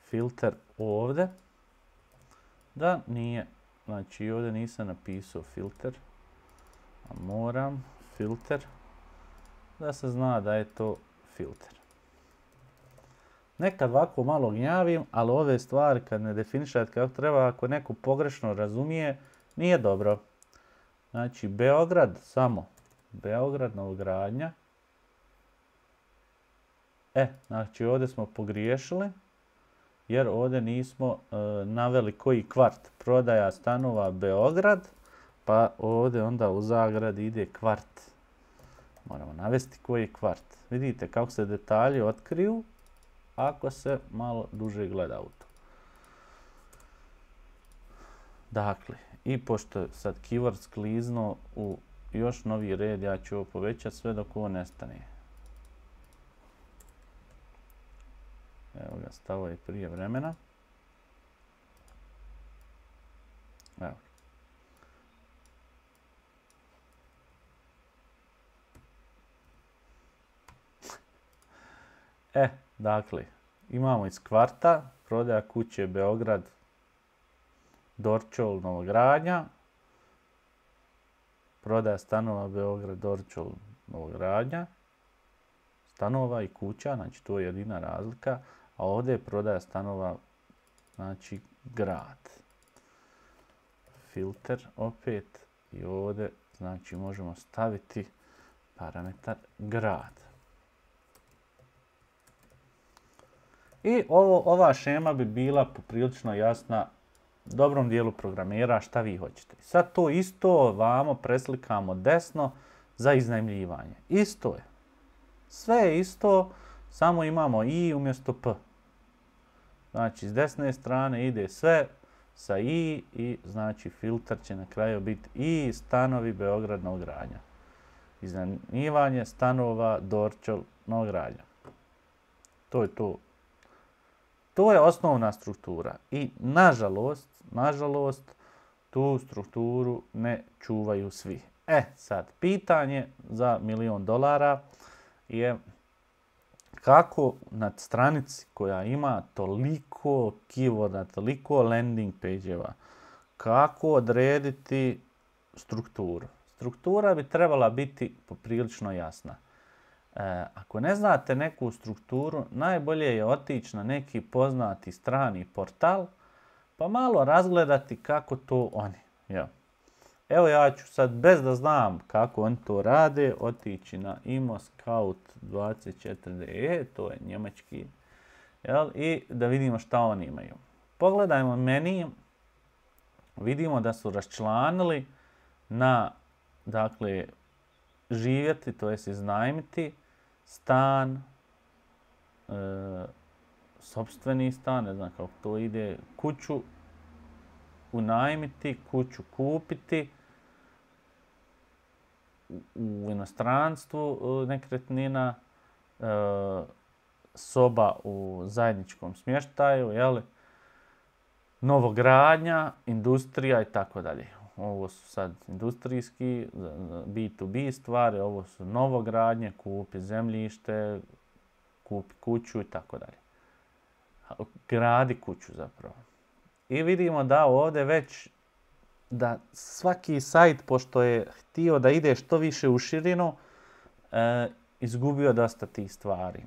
filter ovdje. Da, nije. Znači, ovdje nisam napisao filter. A moram filter. Da se zna da je to filter. Nekad ovako malo gnjavim, ali ove stvari kad ne definišate kako treba, ako neko pogrešno razumije, nije dobro. Znači, Beograd, samo Beograd, novogradnja. E, znači ovdje smo pogriješili. Jer ovdje nismo e, naveli koji kvart. Prodaja stanova Beograd, pa ovdje onda u zagradi ide kvart. Moramo navesti koji je kvart. Vidite kako se detalji otkriju ako se malo duže gleda u to. Dakle, i pošto je sad keyword skliznuo u još novi red, ja ću ovo povećati sve dok ovo nestane. Evo ga, stavo je prije vremena. Evo. E, dakle, imamo iz kvarta, prodaja kuće Beograd, Dorćol, novogradnja. Prodaja stanova Beograd, Dorćol, novogradnja. Stanova i kuća, znači to je jedina razlika. A ovdje je prodaja stanova, znači grad. Filter opet i ovdje, znači možemo staviti parametar grad. I ovo, ova šema bi bila poprilično jasna dobrom dijelu programera šta vi hoćete. Sad to isto vamo preslikamo desno za iznajmljivanje. Isto je. Sve je isto, samo imamo i umjesto p. Znači, s desne strane ide sve sa i i znači filter će na kraju biti i stanovi Beograd, novogradnja. Iznajmljivanje stanova Dorćol, novogradnja. To je to. To je osnovna struktura. I nažalost, nažalost, tu strukturu ne čuvaju svi. E, sad, pitanje za milion dolara je kako na stranici koja ima toliko keyworda, toliko landing page-eva, kako odrediti strukturu. Struktura bi trebala biti poprilično jasna. E, ako ne znate neku strukturu, najbolje je otići na neki poznati strani portal, pa malo razgledati kako to oni. Ja. Evo ja ću sad, bez da znam kako oni to rade, otići na ImmoScout dvadeset četiri D E, to je njemački, jel? I da vidimo šta oni imaju. Pogledajmo meni, vidimo da su raščlanili na, dakle, živjeti, to jest iznajmiti, stan, e, sopstveni stan, ne znam kako to ide, kuću unajmiti, kuću kupiti, u inostranstvu nekretnina, e, soba u zajedničkom smještaju, jel? Novogradnja, industrija i tako dalje. Ovo su sad industrijski, B to B stvari, ovo su novogradnje, kupi zemljište, kupi kuću i tako dalje. Gradi kuću zapravo. I vidimo da ovdje već da svaki sajt, pošto je htio da ide što više u širinu, e, izgubio dosta tih stvari.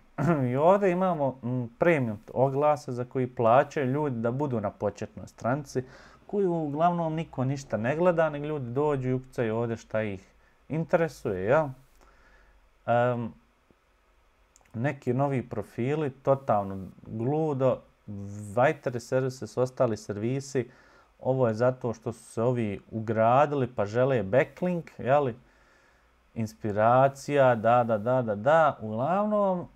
I ovdje imamo m, premium oglase za koji plaćaju ljudi da budu na početnoj stranici, koju uglavnom niko ništa ne gleda, nego ljudi dođu i ukucaju ovdje šta ih interesuje. Ja? Um, neki novi profili, totalno gludo, Viteri Services, ostali servisi, ovo je zato što su se ovi ugradili pa žele backlink, jeli? Inspiracija, da, da, da, da, da. Uglavnom,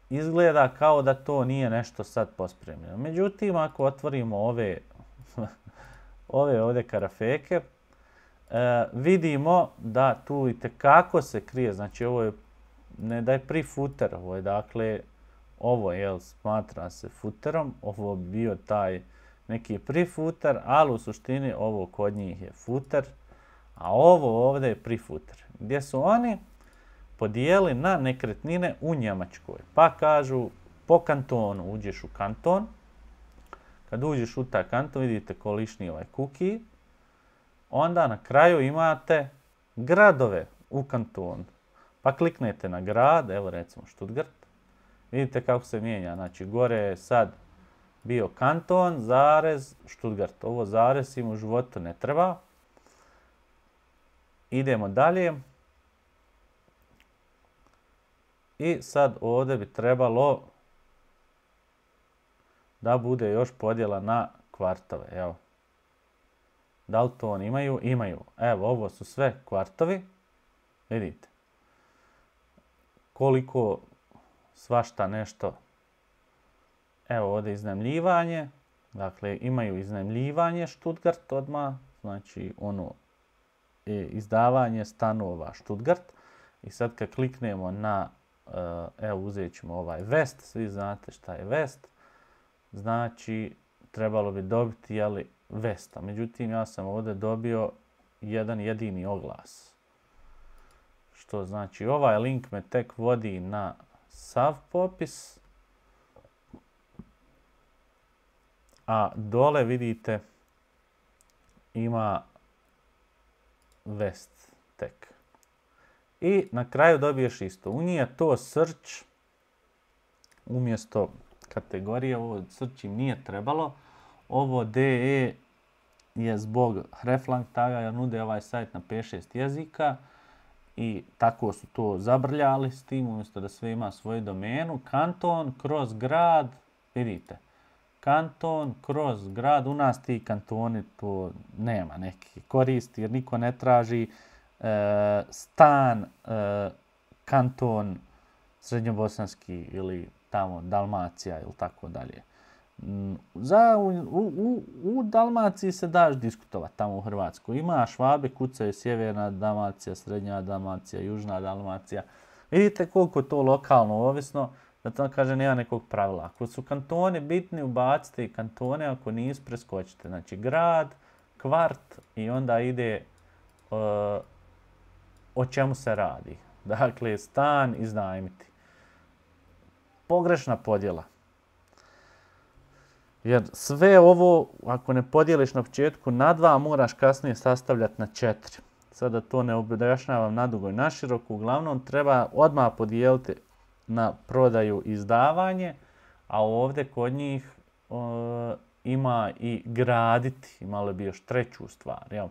izgleda kao da to nije nešto sad pospremljeno. Međutim, ako otvorimo ove, ove ovdje karafeke, e, vidimo da tu itekako se krije. Znači, ovo je, ne da je pre-footer, ovo je dakle, ovo je, smatra se footerom, ovo bi bio taj neki pre-footer, ali u suštini ovo kod njih je footer, a ovo ovdje je pre-footer, gdje su oni podijeli na nekretnine u Njemačkoj. Pa kažu, po kantonu uđeš u kanton, kad uđeš u taj kanton, vidite kolišni ovaj cookie, onda na kraju imate gradove u kantonu. Pa kliknete na grad, evo recimo Stuttgart, vidite kako se mijenja, znači gore je sad bio kanton, zarez, Stuttgart. Ovo zarez im u životu ne treba. Idemo dalje. I sad ovdje bi trebalo da bude još podjela na kvartove. Evo. Da li to oni imaju? Imaju. Evo, ovo su sve kvartovi. Vidite. Koliko svašta nešto. Evo ovdje iznajmljivanje. Dakle, imaju iznajmljivanje Stuttgart odmah. Znači, ono, izdavanje stanova Stuttgart. I sad kad kliknemo na, evo uzet ćemo ovaj West, svi znate šta je West. Znači, trebalo bi dobiti, jeli, Westa. Međutim, ja sam ovdje dobio jedan jedini oglas. Što znači, ovaj link me tek vodi na sav popis. A dole vidite ima West tek. I na kraju dobiješ isto. U nije to search umjesto kategorije, ovo search im nije trebalo. Ovo D E je zbog hreflang taga jer nude ovaj sajt na pet šest jezika i tako su to zabrljali s tim umjesto da sve ima svoju domenu. Kanton kroz grad, vidite. Kanton kroz grad, u nas ti kantoni to nema neki koristi jer niko ne traži e, stan, e, kanton srednjobosanski ili tamo Dalmacija ili tako dalje. Za, u, u, u Dalmaciji se daš diskutovati tamo u Hrvatskoj. Ima Švabe, kucaju sjeverna Dalmacija, srednja Dalmacija, južna Dalmacija. Vidite koliko to lokalno ovisno. Da to kaže nema nekog pravila. Ako su kantoni bitni, ubacite i kantone, ako nisu, preskočite. Znači grad, kvart i onda ide uh, o čemu se radi. Dakle, stan iznajmiti. Pogrešna podjela. Jer sve ovo, ako ne podijeliš na početku na dva, moraš kasnije sastavljati na četiri. Sada to ne objašnjavam nadugo i naširoko. Uglavnom, treba odmah podijeliti na prodaju i izdavanje, a ovdje kod njih o, ima i graditi. Imali bi još treću stvar. Jel?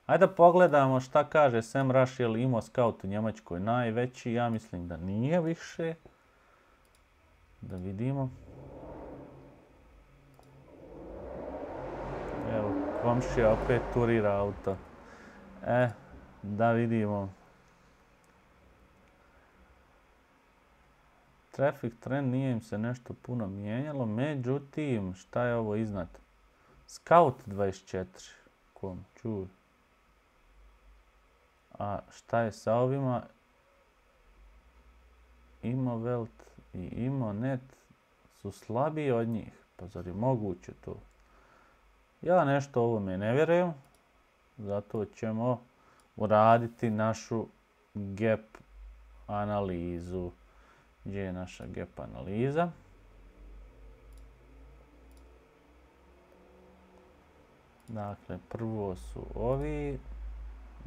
Ajde da pogledamo šta kaže SEMrush, je li imao scout u Njemačkoj najveći, ja mislim da nije više. Da vidimo. Evo, komšija opet turira auto. E, da vidimo. Traffic trend nije im se nešto puno mijenjalo, međutim, šta je ovo iznad? Scout dvadeset četiri. Kom, čuj. A šta je sa ovima? Imovelt i Imonet su slabiji od njih. Pa zar je moguće to? Ja nešto ovome ne vjerujem. Zato ćemo uraditi našu gap analizu. Gdje je naša gap analiza? Dakle, prvo su ovi,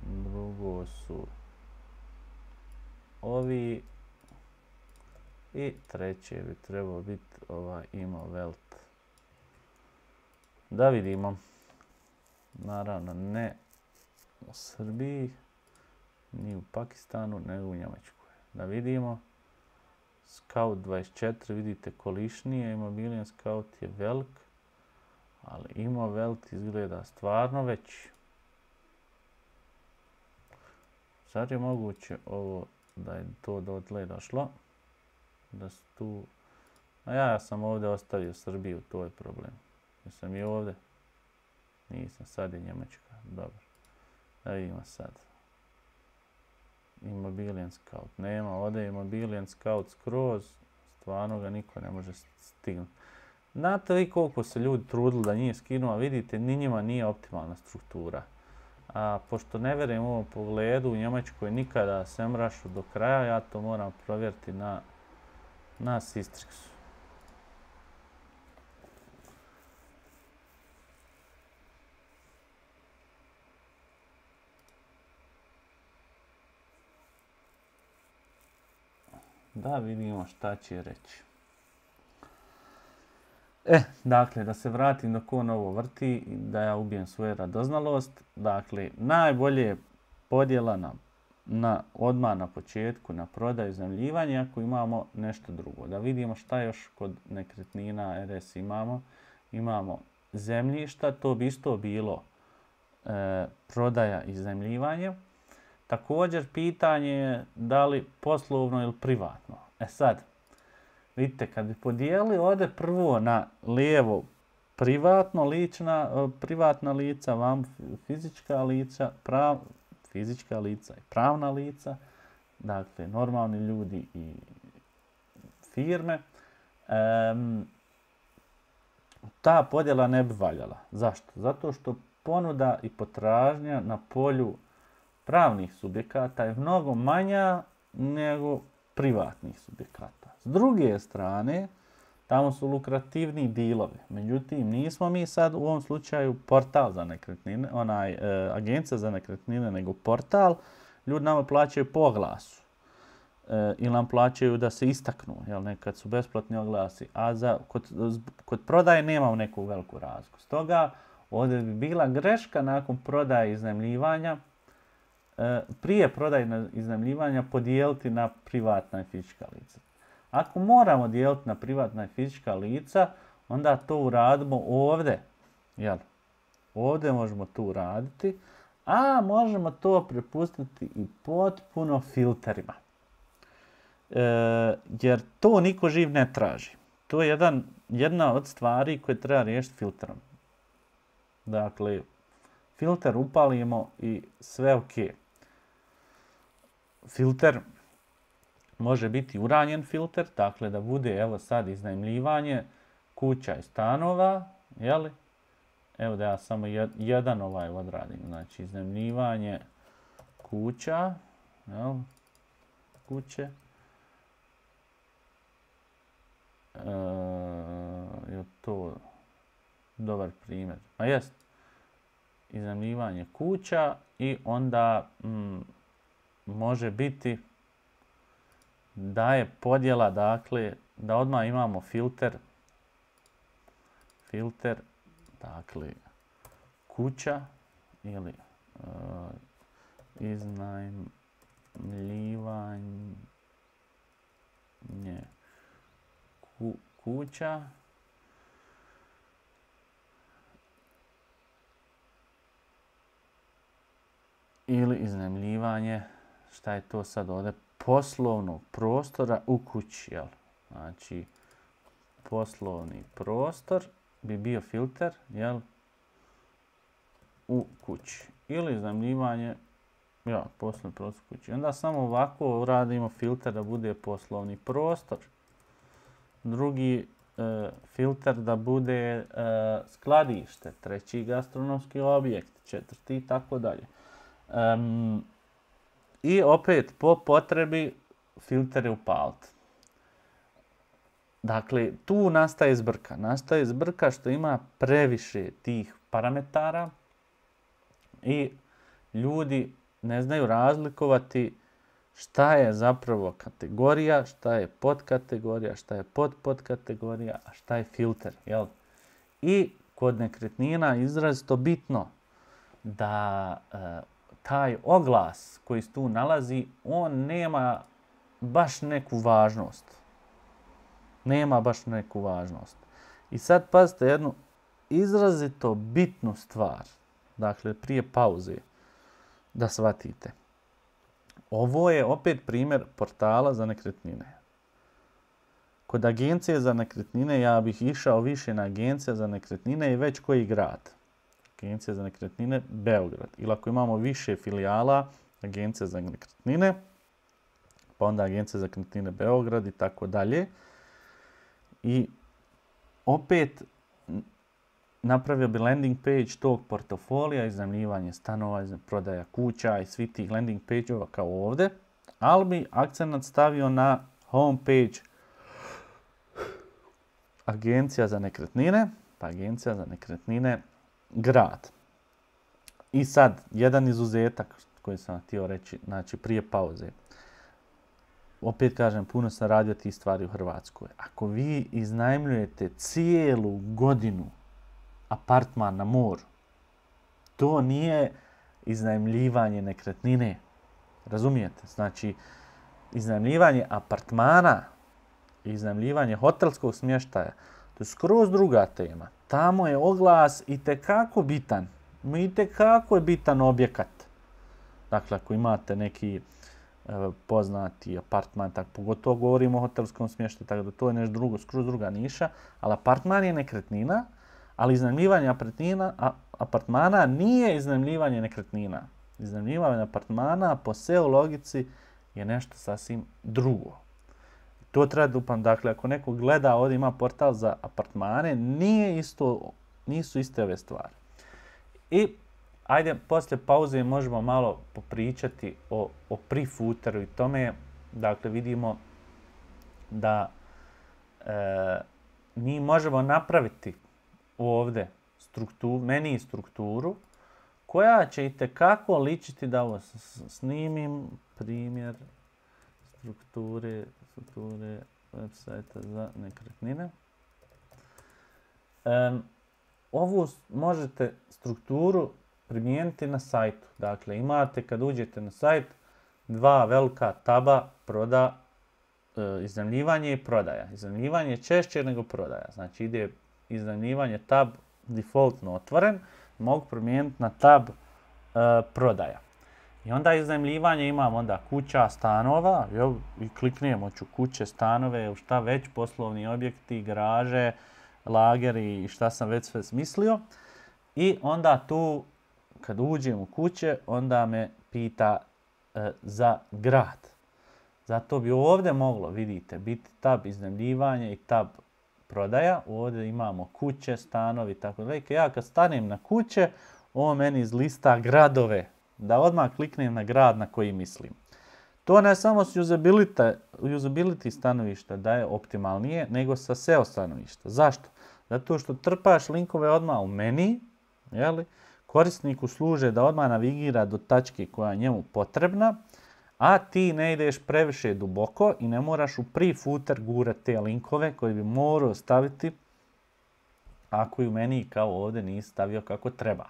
drugo su ovi i treće bi trebao biti ovaj Imovelt. Da vidimo. Naravno ne u Srbiji, ni u Pakistanu, nego u Njemačkoj. Da vidimo. Scout dvadeset četiri, vidite kolišnije, Immobilien Scout je velik, ali Imovelt izgleda stvarno veći. Zar je moguće ovo da je to dotle došlo? Da su tu... A ja sam ovdje ostavio Srbiju, to je problem. Jesam i ovdje? Nisam, sad je Njemačka. Dobro. Da vidimo sad. Immobilien Scout. Nema, ovdje je Immobilien Scout skroz. Stvarno ga niko ne može stignuti. Znate vi koliko se ljudi trudili da nije skinuo, a vidite, ni njima nije optimalna struktura. A pošto ne vjerujem u ovom pogledu, u Njemačkoj nikada SEMrushu do kraja, ja to moram provjeriti na, na Sistrixu. Da vidimo šta će reći. E, dakle, da se vratim dok on ovo vrti, da ja ubijem svoju radoznalost. Dakle, najbolje je podjela na, na, odmah na početku na prodaju i iznajmljivanje ako imamo nešto drugo. Da vidimo šta još kod nekretnina R S imamo. Imamo zemljišta, to bi isto bilo e, prodaja i iznajmljivanje. Također, pitanje je da li poslovno ili privatno. E sad, vidite, kad bi podijelili ovdje prvo na lijevo privatno lična, privatna lica, vam fizička lica, prav, fizička lica i pravna lica, dakle, normalni ljudi i firme, um, ta podjela ne bi valjala. Zašto? Zato što ponuda i potražnja na polju pravnih subjekata je mnogo manja nego privatnih subjekata. S druge strane, tamo su lukrativni dilovi. Međutim, nismo mi sad u ovom slučaju portal za nekretnine, onaj e, agencija za nekretnine, nego portal. Ljudi nama plaćaju po oglasu. E, ili nam plaćaju da se istaknu, jel, nekad su besplatni oglasi. A za, kod, kod prodaje nemamo neku veliku razliku. Stoga, ovdje bi bila greška nakon prodaje i iznajmljivanja, prije prodaje i iznajmljivanja podijeliti na privatna i fizička lica. Ako moramo dijeliti na privatna i fizička lica, onda to uradimo ovdje. Jel? Ovdje možemo to uraditi, a možemo to prepustiti i potpuno filterima. E, jer to niko živ ne traži. To je jedan, jedna od stvari koje treba riješiti filterom. Dakle, filter upalimo i sve ok. Filter može biti uranjen filter, dakle da bude, evo sad, iznajmljivanje kuća i stanova, jeli? Evo da ja samo jed, jedan ovaj odradim, znači iznajmljivanje kuća, jel? Kuće. E, je to dobar primjer? Pa jest. Iznajmljivanje kuća i onda mm, može biti da je podjela, dakle, da odmah imamo filter, filter, dakle, kuća ili uh, iznajmljivanje ku, kuća ili iznajmljivanje, šta je to sad ovdje, poslovnog prostora u kući, jel? Znači, poslovni prostor bi bio filter, jel? U kući. Ili iznajmljivanje, ja, poslovni prostor u kući. Onda samo ovako uradimo filter da bude poslovni prostor. Drugi e, filter da bude e, skladište. Treći gastronomski objekt. Četvrti i tako dalje. Um, I opet po potrebi filtere upaliti. Dakle, tu nastaje zbrka. Nastaje zbrka što ima previše tih parametara i ljudi ne znaju razlikovati šta je zapravo kategorija, šta je podkategorija, šta je podpodkategorija, a šta je filter. Jel? I kod nekretnina je izrazito bitno da e, taj oglas koji se tu nalazi, on nema baš neku važnost. Nema baš neku važnost. I sad pazite jednu izrazito bitnu stvar. Dakle, prije pauze da shvatite. Ovo je opet primjer portala za nekretnine. Kod agencije za nekretnine ja bih išao više na agencija za nekretnine i već koji grad. Agencija za nekretnine Beograd. Ili ako imamo više filijala, agencija za nekretnine, pa onda agencija za nekretnine Beograd i tako dalje. I opet napravio bi landing page tog portofolija, iznajmljivanje stanova, prodaja kuća i svi tih landing page-ova kao ovdje, ali bi akcenat stavio na home page agencija za nekretnine, pa agencija za nekretnine grad. I sad, jedan izuzetak koji sam htio reći, znači prije pauze. Opet kažem, puno sam radio tih stvari u Hrvatskoj. Ako vi iznajmljujete cijelu godinu apartman na moru, to nije iznajmljivanje nekretnine. Razumijete? Znači, iznajmljivanje apartmana, iznajmljivanje hotelskog smještaja, to je skroz druga tema. Tamo je oglas itekako bitan. Itekako je bitan objekat. Dakle, ako imate neki e, poznati apartman, tako pogotovo govorimo o hotelskom smještaju, tako da to je nešto drugo, skroz druga niša, ali apartman je nekretnina, ali iznajmljivanje apartmana nije iznajmljivanje nekretnina. Iznajmljivanje apartmana po S E O logici je nešto sasvim drugo. To treba da upam. Dakle, ako neko gleda ovdje ima portal za apartmane, nije isto, nisu iste ove stvari. I ajde, poslije pauze možemo malo popričati o, o pre-footeru i tome. Dakle, vidimo da e, mi možemo napraviti ovdje strukturu, meni strukturu koja će itekako ličiti da ovo snimim primjer strukture, strukture websajta za nekretnine. Um, ovu možete strukturu primijeniti na sajtu. Dakle, imate kad uđete na sajt dva velika taba proda, e, iznajmljivanje i prodaja. Iznajmljivanje je češće nego prodaja. Znači ide iznajmljivanje tab defaultno otvoren, mogu promijeniti na tab e, prodaja. I onda iznajmljivanje imamo onda kuća, stanova, jel, i kliknemo ću kuće, stanove, šta već, poslovni objekti, garaže, lageri i šta sam već sve smislio. I onda tu, kad uđem u kuće, onda me pita e, za grad. Zato bi ovdje moglo, vidite, biti tab iznajmljivanje i tab prodaja. Ovdje imamo kuće, stanovi, tako da. Ja kad stanem na kuće, on meni izlista gradove, da odmah kliknem na grad na koji mislim. To ne samo s usability, usability stanovišta da je optimalnije, nego sa S E O stanovišta. Zašto? Zato što trpaš linkove odmah u meni, jeli? Korisniku služe da odmah navigira do tačke koja je njemu potrebna, a ti ne ideš previše duboko i ne moraš u pre-footer gurati te linkove koje bi morao staviti ako i u meni kao ovdje nisi stavio kako treba.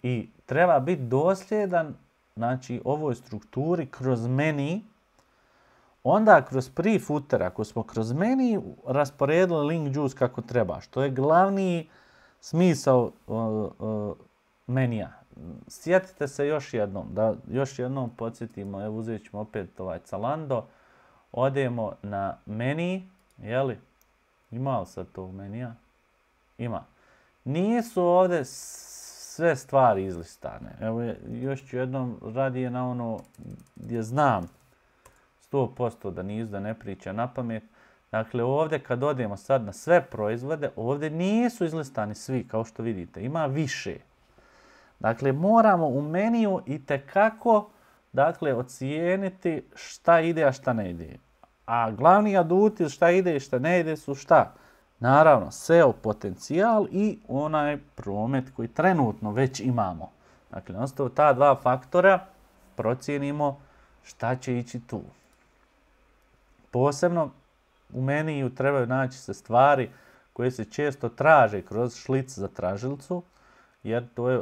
I treba biti dosljedan, znači, ovoj strukturi kroz meni. Onda kroz pre-footer, ako smo kroz meni rasporedili link juice kako treba, što je glavni smisao uh, uh, menija. Sjetite se još jednom, da još jednom podsjetimo, evo uzet ćemo opet ovaj Zalando, odemo na meni, jeli, ima li sad to menija? Ima. Nisu ovdje sve stvari izlistane. Evo još ću jednom radije na ono gdje znam sto posto da nisu, da ne priča na pamet. Dakle, ovdje kad odemo sad na sve proizvode, ovdje nisu izlistani svi, kao što vidite. Ima više. Dakle, moramo u meniju itekako, dakle, ocijeniti šta ide, a šta ne ide. A glavni aduti šta ide i šta ne ide su šta? Naravno, S E O potencijal i onaj promet koji trenutno već imamo. Dakle, nastavu ta dva faktora procijenimo šta će ići tu. Posebno u meniju trebaju naći se stvari koje se često traže kroz šlic za tražilicu, jer to je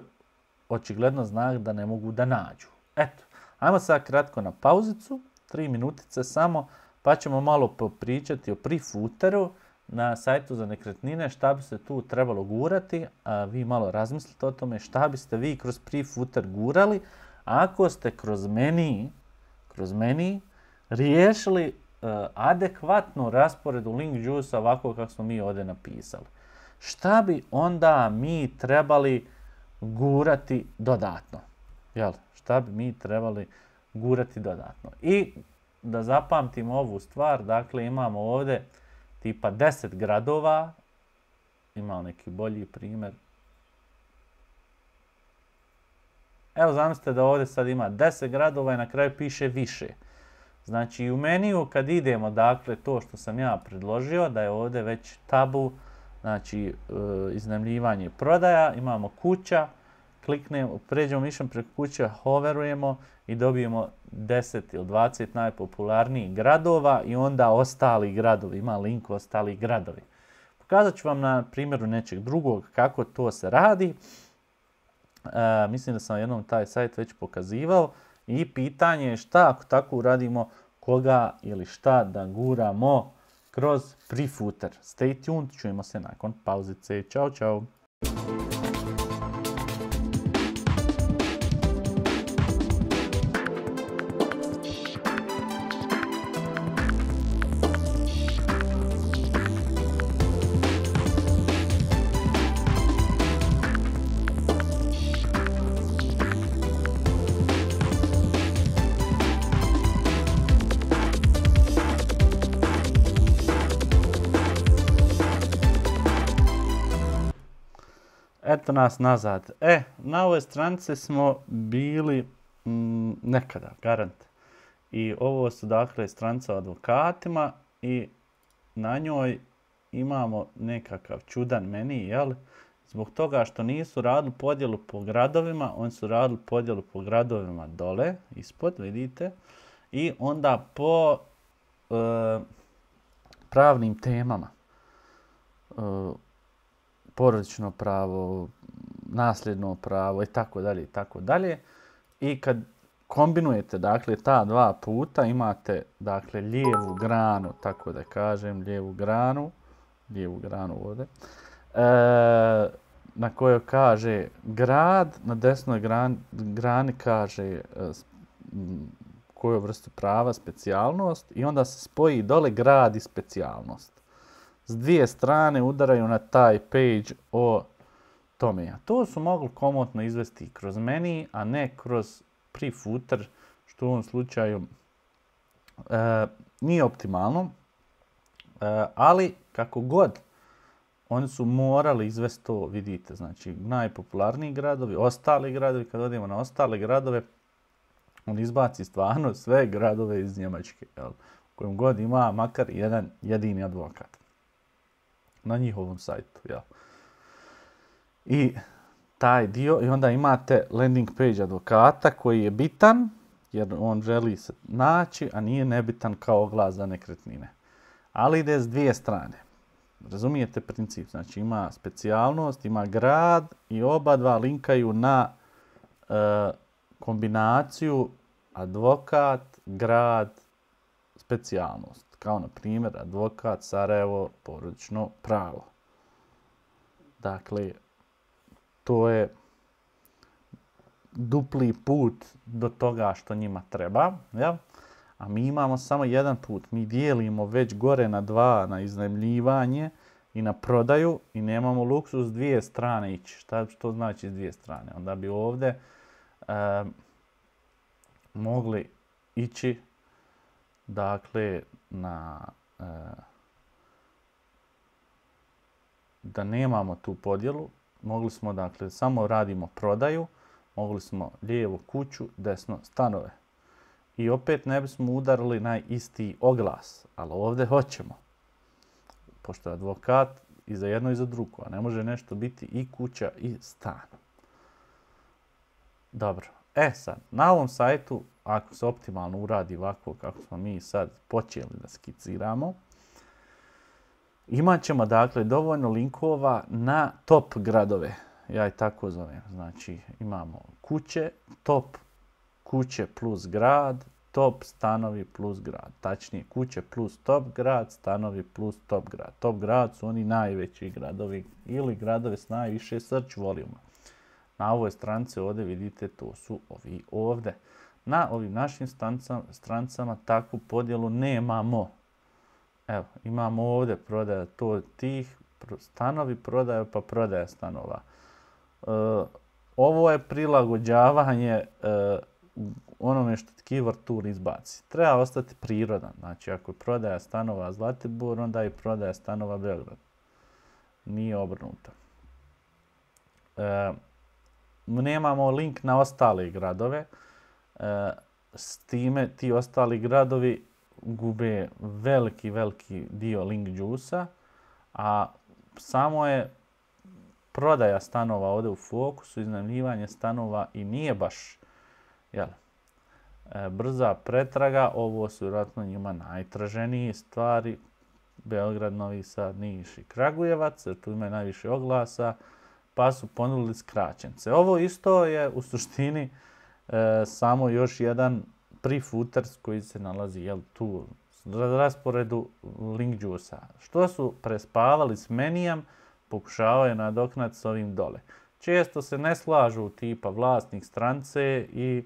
očigledno znak da ne mogu da nađu. Eto, ajmo sad kratko na pauzicu, tri minutice samo, pa ćemo malo popričati o pre-footeru na sajtu za nekretnine, šta bi se tu trebalo gurati, a vi malo razmislite o tome šta biste vi kroz pre-footer gurali, ako ste kroz meni, kroz meni riješili uh, adekvatnu rasporedu link juice ovako kako smo mi ovdje napisali. Šta bi onda mi trebali gurati dodatno? Jel? Šta bi mi trebali gurati dodatno? I da zapamtimo ovu stvar, dakle imamo ovdje tipa deset gradova, imamo neki bolji primjer. Evo zamislite da ovdje sad ima deset gradova i na kraju piše više. Znači u meniju kad idemo, dakle to što sam ja predložio, da je ovdje već tabu, znači iznajmljivanje prodaja, imamo kuća, kliknemo, pređemo mišem preko kuće, hoverujemo i dobijemo deset ili dvadeset najpopularnijih gradova i onda ostali gradovi, ima link ostali gradovi. Pokazat ću vam na primjeru nečeg drugog kako to se radi. E, mislim da sam jednom taj sajt već pokazivao i pitanje je šta ako tako uradimo, koga ili šta da guramo kroz pre-footer. Stay tuned, čujemo se nakon pauzice. Ćao, čao. Eto nas nazad. E, na ovoj stranici smo bili mm, nekada, garant. I ovo su dakle stranica o advokatima i na njoj imamo nekakav čudan meni, jel? Zbog toga što nisu radili podjelu po gradovima, oni su radili podjelu po gradovima dole, ispod, vidite. I onda po e, pravnim temama. E, porodično pravo, nasljedno pravo i tako dalje i tako dalje. I kad kombinujete dakle ta dva puta imate dakle lijevu granu, tako da kažem, lijevu granu, lijevu granu ovdje, e, na kojoj kaže grad, na desnoj grani, grani kaže e, koju vrstu prava, specijalnost i onda se spoji dole grad i specijalnost. S dvije strane udaraju na taj page o tome. A to su mogli komotno izvesti kroz meni, a ne kroz pre-footer, što u ovom slučaju e, nije optimalno. E, ali kako god, oni su morali izvesti to, vidite, znači najpopularniji gradovi, ostali gradovi, kad odemo na ostale gradove, on izbaci stvarno sve gradove iz Njemačke, jel? U kojem god ima makar jedan jedini advokat na njihovom sajtu, jel? I taj dio, i onda imate landing page advokata koji je bitan, jer on želi se naći, a nije nebitan kao oglas za nekretnine. Ali ide s dvije strane. Razumijete princip? Znači ima specijalnost, ima grad i oba dva linkaju na e, kombinaciju advokat, grad, specijalnost. Kao na primjer advokat, Sarajevo, porodično pravo. Dakle, to je dupli put do toga što njima treba, jel? A mi imamo samo jedan put. Mi dijelimo već gore na dva, na iznajmljivanje i na prodaju i nemamo luksus s dvije strane ići. Šta to znači s dvije strane? Onda bi ovdje e, mogli ići dakle na e, da nemamo tu podjelu. Mogli smo dakle samo radimo prodaju, mogli smo lijevo kuću, desno stanove. I opet ne bismo udarili na isti oglas, ali ovdje hoćemo. Pošto je advokat i za jedno i za drugo, a ne može nešto biti i kuća i stan. Dobro, e sad, na ovom sajtu, ako se optimalno uradi ovako kako smo mi sad počeli da skiciramo, imat ćemo dakle dovoljno linkova na top gradove. Ja ih tako zovem. Znači imamo kuće, top kuće plus grad, top stanovi plus grad. Tačnije kuće plus top grad, stanovi plus top grad. Top grad su oni najveći gradovi ili gradovi s najviše search voluma. Na ovoj stranici ovdje vidite to su ovi ovdje. Na ovim našim stranicama takvu podjelu nemamo. Evo, imamo ovdje prodaja to tih stanovi, prodaja pa prodaja stanova. E, ovo je prilagođavanje e, onome što keyword tool izbaci. Treba ostati prirodan. Znači, ako je prodaja stanova Zlatibor, onda je prodaja stanova Beograd. Nije obrnuto. E, nemamo link na ostale gradove. E, s time ti ostali gradovi gube veliki, veliki dio link juice-a, a samo je prodaja stanova ovdje u fokusu, iznajmljivanje stanova i nije baš jel, e, brza pretraga. Ovo su vjerojatno njima najtraženije stvari. Beograd, Novi Sad, Niš i Kragujevac, jer tu imaju najviše oglasa, pa su ponudili skraćence. Ovo isto je u suštini e, samo još jedan pre-footer koji se nalazi jel, tu na rasporedu link juice-a. Što su prespavali s menijem, pokušavaju nadoknati s ovim dole. Često se ne slažu tipa vlasnik stranice i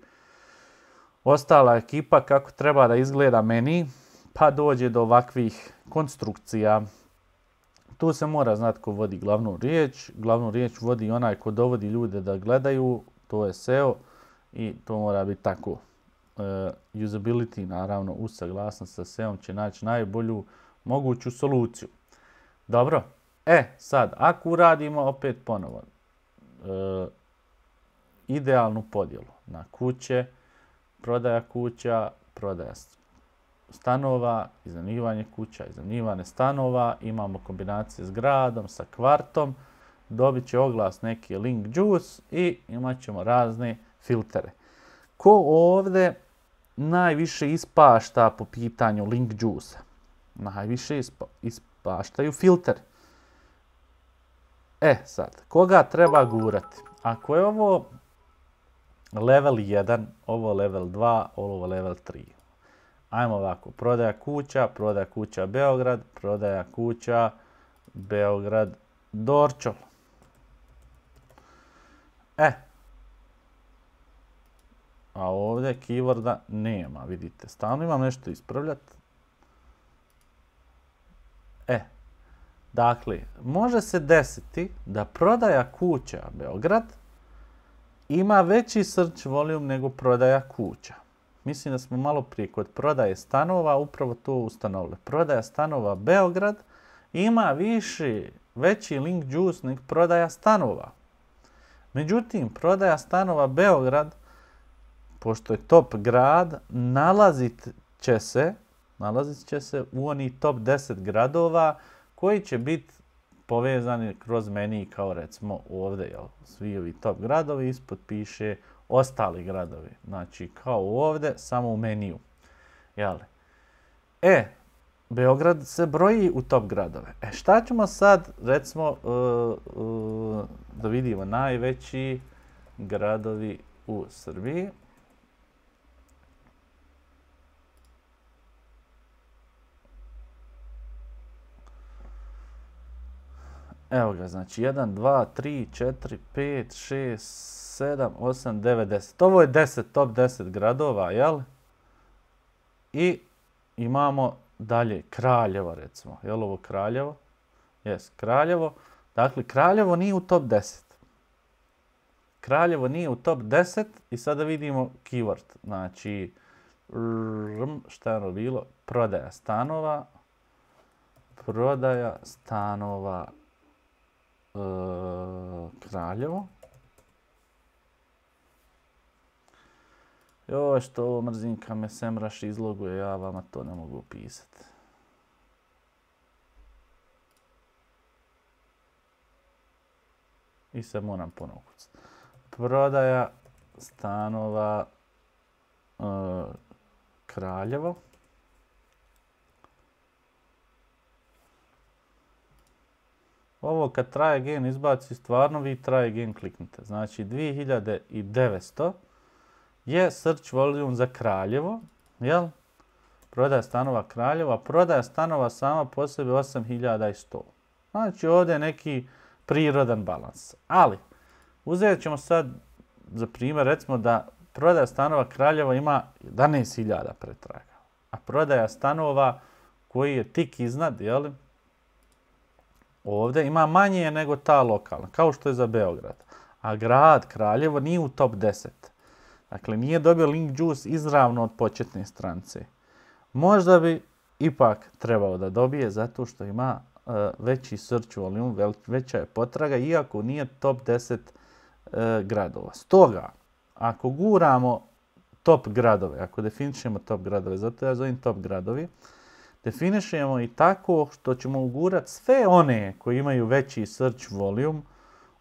ostala ekipa kako treba da izgleda meni, pa dođe do ovakvih konstrukcija. Tu se mora znati ko vodi glavnu riječ. Glavnu riječ vodi onaj ko dovodi ljude da gledaju, to je S E O i to mora biti tako. Uh, usability, naravno, uz saglasnost sa S E O-om će naći najbolju moguću soluciju. Dobro, e sad, ako uradimo opet ponovo uh, idealnu podjelu na kuće, prodaja kuća, prodaja stanova, iznajmljivanje kuća, iznajmljivanje stanova, imamo kombinacije s gradom, sa kvartom, dobit će oglas neki link juice i imat ćemo razne filtere. Ko ovdje najviše ispašta po pitanju link juice-a? Najviše ispa, ispaštaju filteri. E sad, koga treba gurati? Ako je ovo level jedan, ovo level dva, ovo level tri. Ajmo ovako, prodaja kuća, prodaja kuća Beograd, prodaja kuća Beograd Dorčol. E, a ovdje keyworda nema, vidite. Stalno imam nešto ispravljati. E, dakle, može se desiti da prodaja kuća Beograd ima veći search volume nego prodaja kuća. Mislim da smo malo prije kod prodaje stanova upravo to ustanovili. Prodaja stanova Beograd ima više, veći link juice nego prodaja stanova. Međutim, prodaja stanova Beograd, pošto je top grad, nalazit će se, nalazit će se u oni top deset gradova koji će biti povezani kroz meni kao recimo ovdje, jel, svi ovi top gradovi, ispod piše ostali gradovi. Znači kao ovdje, samo u meniju. Jel? E, Beograd se broji u top gradove. E, šta ćemo sad, recimo, uh, uh, da vidimo najveći gradovi u Srbiji. Evo ga, znači jedan, dva, tri, četiri, pet, šest, sedam, osam, devet, deset. Ovo je deset, top deset gradova, jel? I imamo dalje Kraljevo, recimo. Jel ovo Kraljevo? Jes, Kraljevo. Dakle, Kraljevo nije u top deset. Kraljevo nije u top deset i sada vidimo keyword. Znači, šta je ono bilo? Prodaja stanova. Prodaja stanova e, Kraljevo. Joj, što ovo mrzinka me semraš izloguje, ja vama to ne mogu pisati. I sad moram ponovo kucati. Prodaja stanova e, Kraljevo. Ovo kad try again izbaci, stvarno vi try again kliknite. Znači dvije hiljade devetsto je search volume za Kraljevo, jel? Prodaja stanova Kraljevo, a prodaja stanova sama po sebi osam hiljada sto. Znači ovdje je neki prirodan balans. Ali, uzet ćemo sad za primjer, recimo da prodaja stanova Kraljevo ima jedanaest hiljada pretraga, a prodaja stanova koji je tik iznad, jel? Ovdje ima manje nego ta lokalna, kao što je za Beograd. A grad Kraljevo nije u top deset. Dakle, nije dobio link juice izravno od početne stranice. Možda bi ipak trebao da dobije zato što ima uh, veći search volume, veća je potraga, iako nije top deset uh, gradova. Stoga, ako guramo top gradove, ako definišemo top gradove, zato ja zovem top gradovi, definišemo i tako što ćemo ugurati sve one koji imaju veći search volume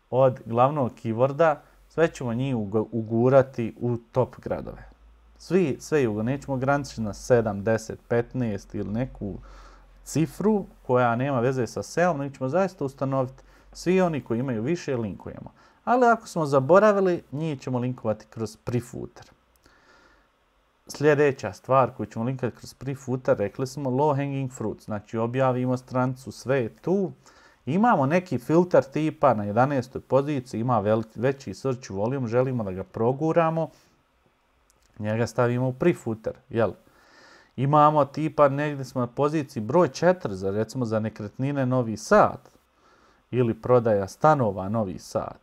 od glavnog keyworda, sve ćemo njih ugurati u top gradove. Svi, sve jugo, nećemo ograničiti na sedam, deset, petnaest ili neku cifru koja nema veze sa S E O-om, nego ćemo zaista ustanoviti svi oni koji imaju više linkujemo. Ali ako smo zaboravili, njih ćemo linkovati kroz prefooter. Sljedeća stvar koju ćemo linkati kroz prefooter, rekli smo low hanging fruit, znači objavimo stranicu, sve je tu. Imamo neki filter tipa na jedanaestoj poziciji, ima veći search volume, želimo da ga proguramo, njega stavimo u prefooter, jel? Imamo tipa negdje smo na poziciji broj četiri, za, recimo za nekretnine Novi Sad ili prodaja stanova Novi Sad.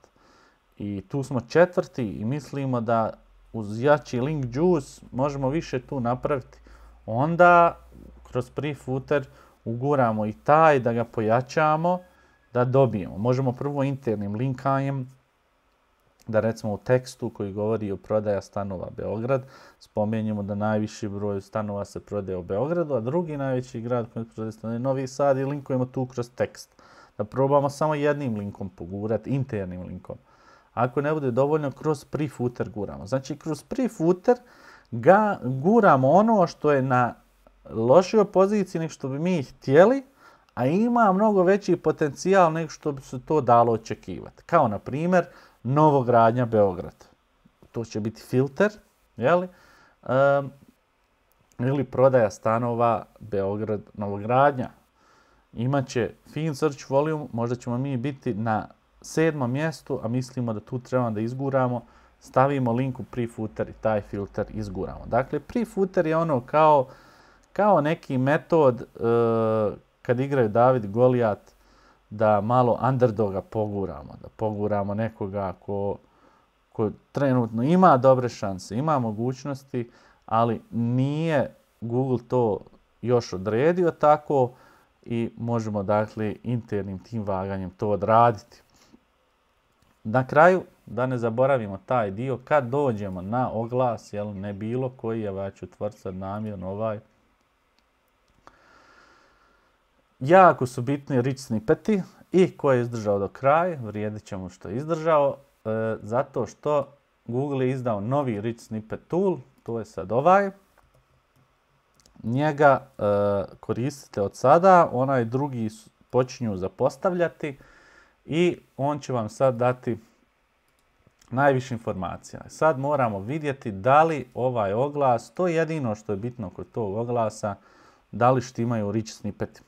I tu smo četvrti i mislimo da uz jači link juice možemo više tu napraviti. Onda kroz prefooter uguramo i taj da ga pojačamo, da dobijemo. Možemo prvo internim linkanjem, da recimo u tekstu koji govori o prodaja stanova Beograd, spomenjemo da najviši broj stanova se prodaje u Beogradu, a drugi najveći grad koji prodaje stanova je Novi Sad i linkujemo tu kroz tekst. Da probamo samo jednim linkom pogurati, internim linkom. Ako ne bude dovoljno, kroz prefooter guramo. Znači, kroz prefooter ga guramo ono što je na lošoj poziciji nego što bi mi htjeli, a ima mnogo veći potencijal nego što bi se to dalo očekivati. Kao, na primjer, novogradnja Beograd. To će biti filter, jeli? Um, ili prodaja stanova Beograd novogradnja. Imaće fin search volume, možda ćemo mi biti na sedmom mjestu, a mislimo da tu trebamo da izguramo, stavimo link u prefooter i taj filter izguramo. Dakle, prefooter je ono kao, kao neki metod uh, kad igraju David i Golijat, da malo underdoga poguramo, da poguramo nekoga ko, ko trenutno ima dobre šanse, ima mogućnosti, ali nije Google to još odredio tako i možemo dakle internim tim vaganjem to odraditi. Na kraju, da ne zaboravimo taj dio, kad dođemo na oglas, jel, ne bilo koji, ja ću otvoriti sad namjerno ovaj, jako su bitni rich snippeti i ko je izdržao do kraja, vrijedit će mu što je izdržao, e, zato što Google je izdao novi rich snippet tool, to je sad ovaj. Njega e, koristite od sada, onaj drugi počinju zapostavljati i on će vam sad dati najviše informacija. Sad moramo vidjeti da li ovaj oglas, to je jedino što je bitno kod tog oglasa, da li štimaju rich snippeti.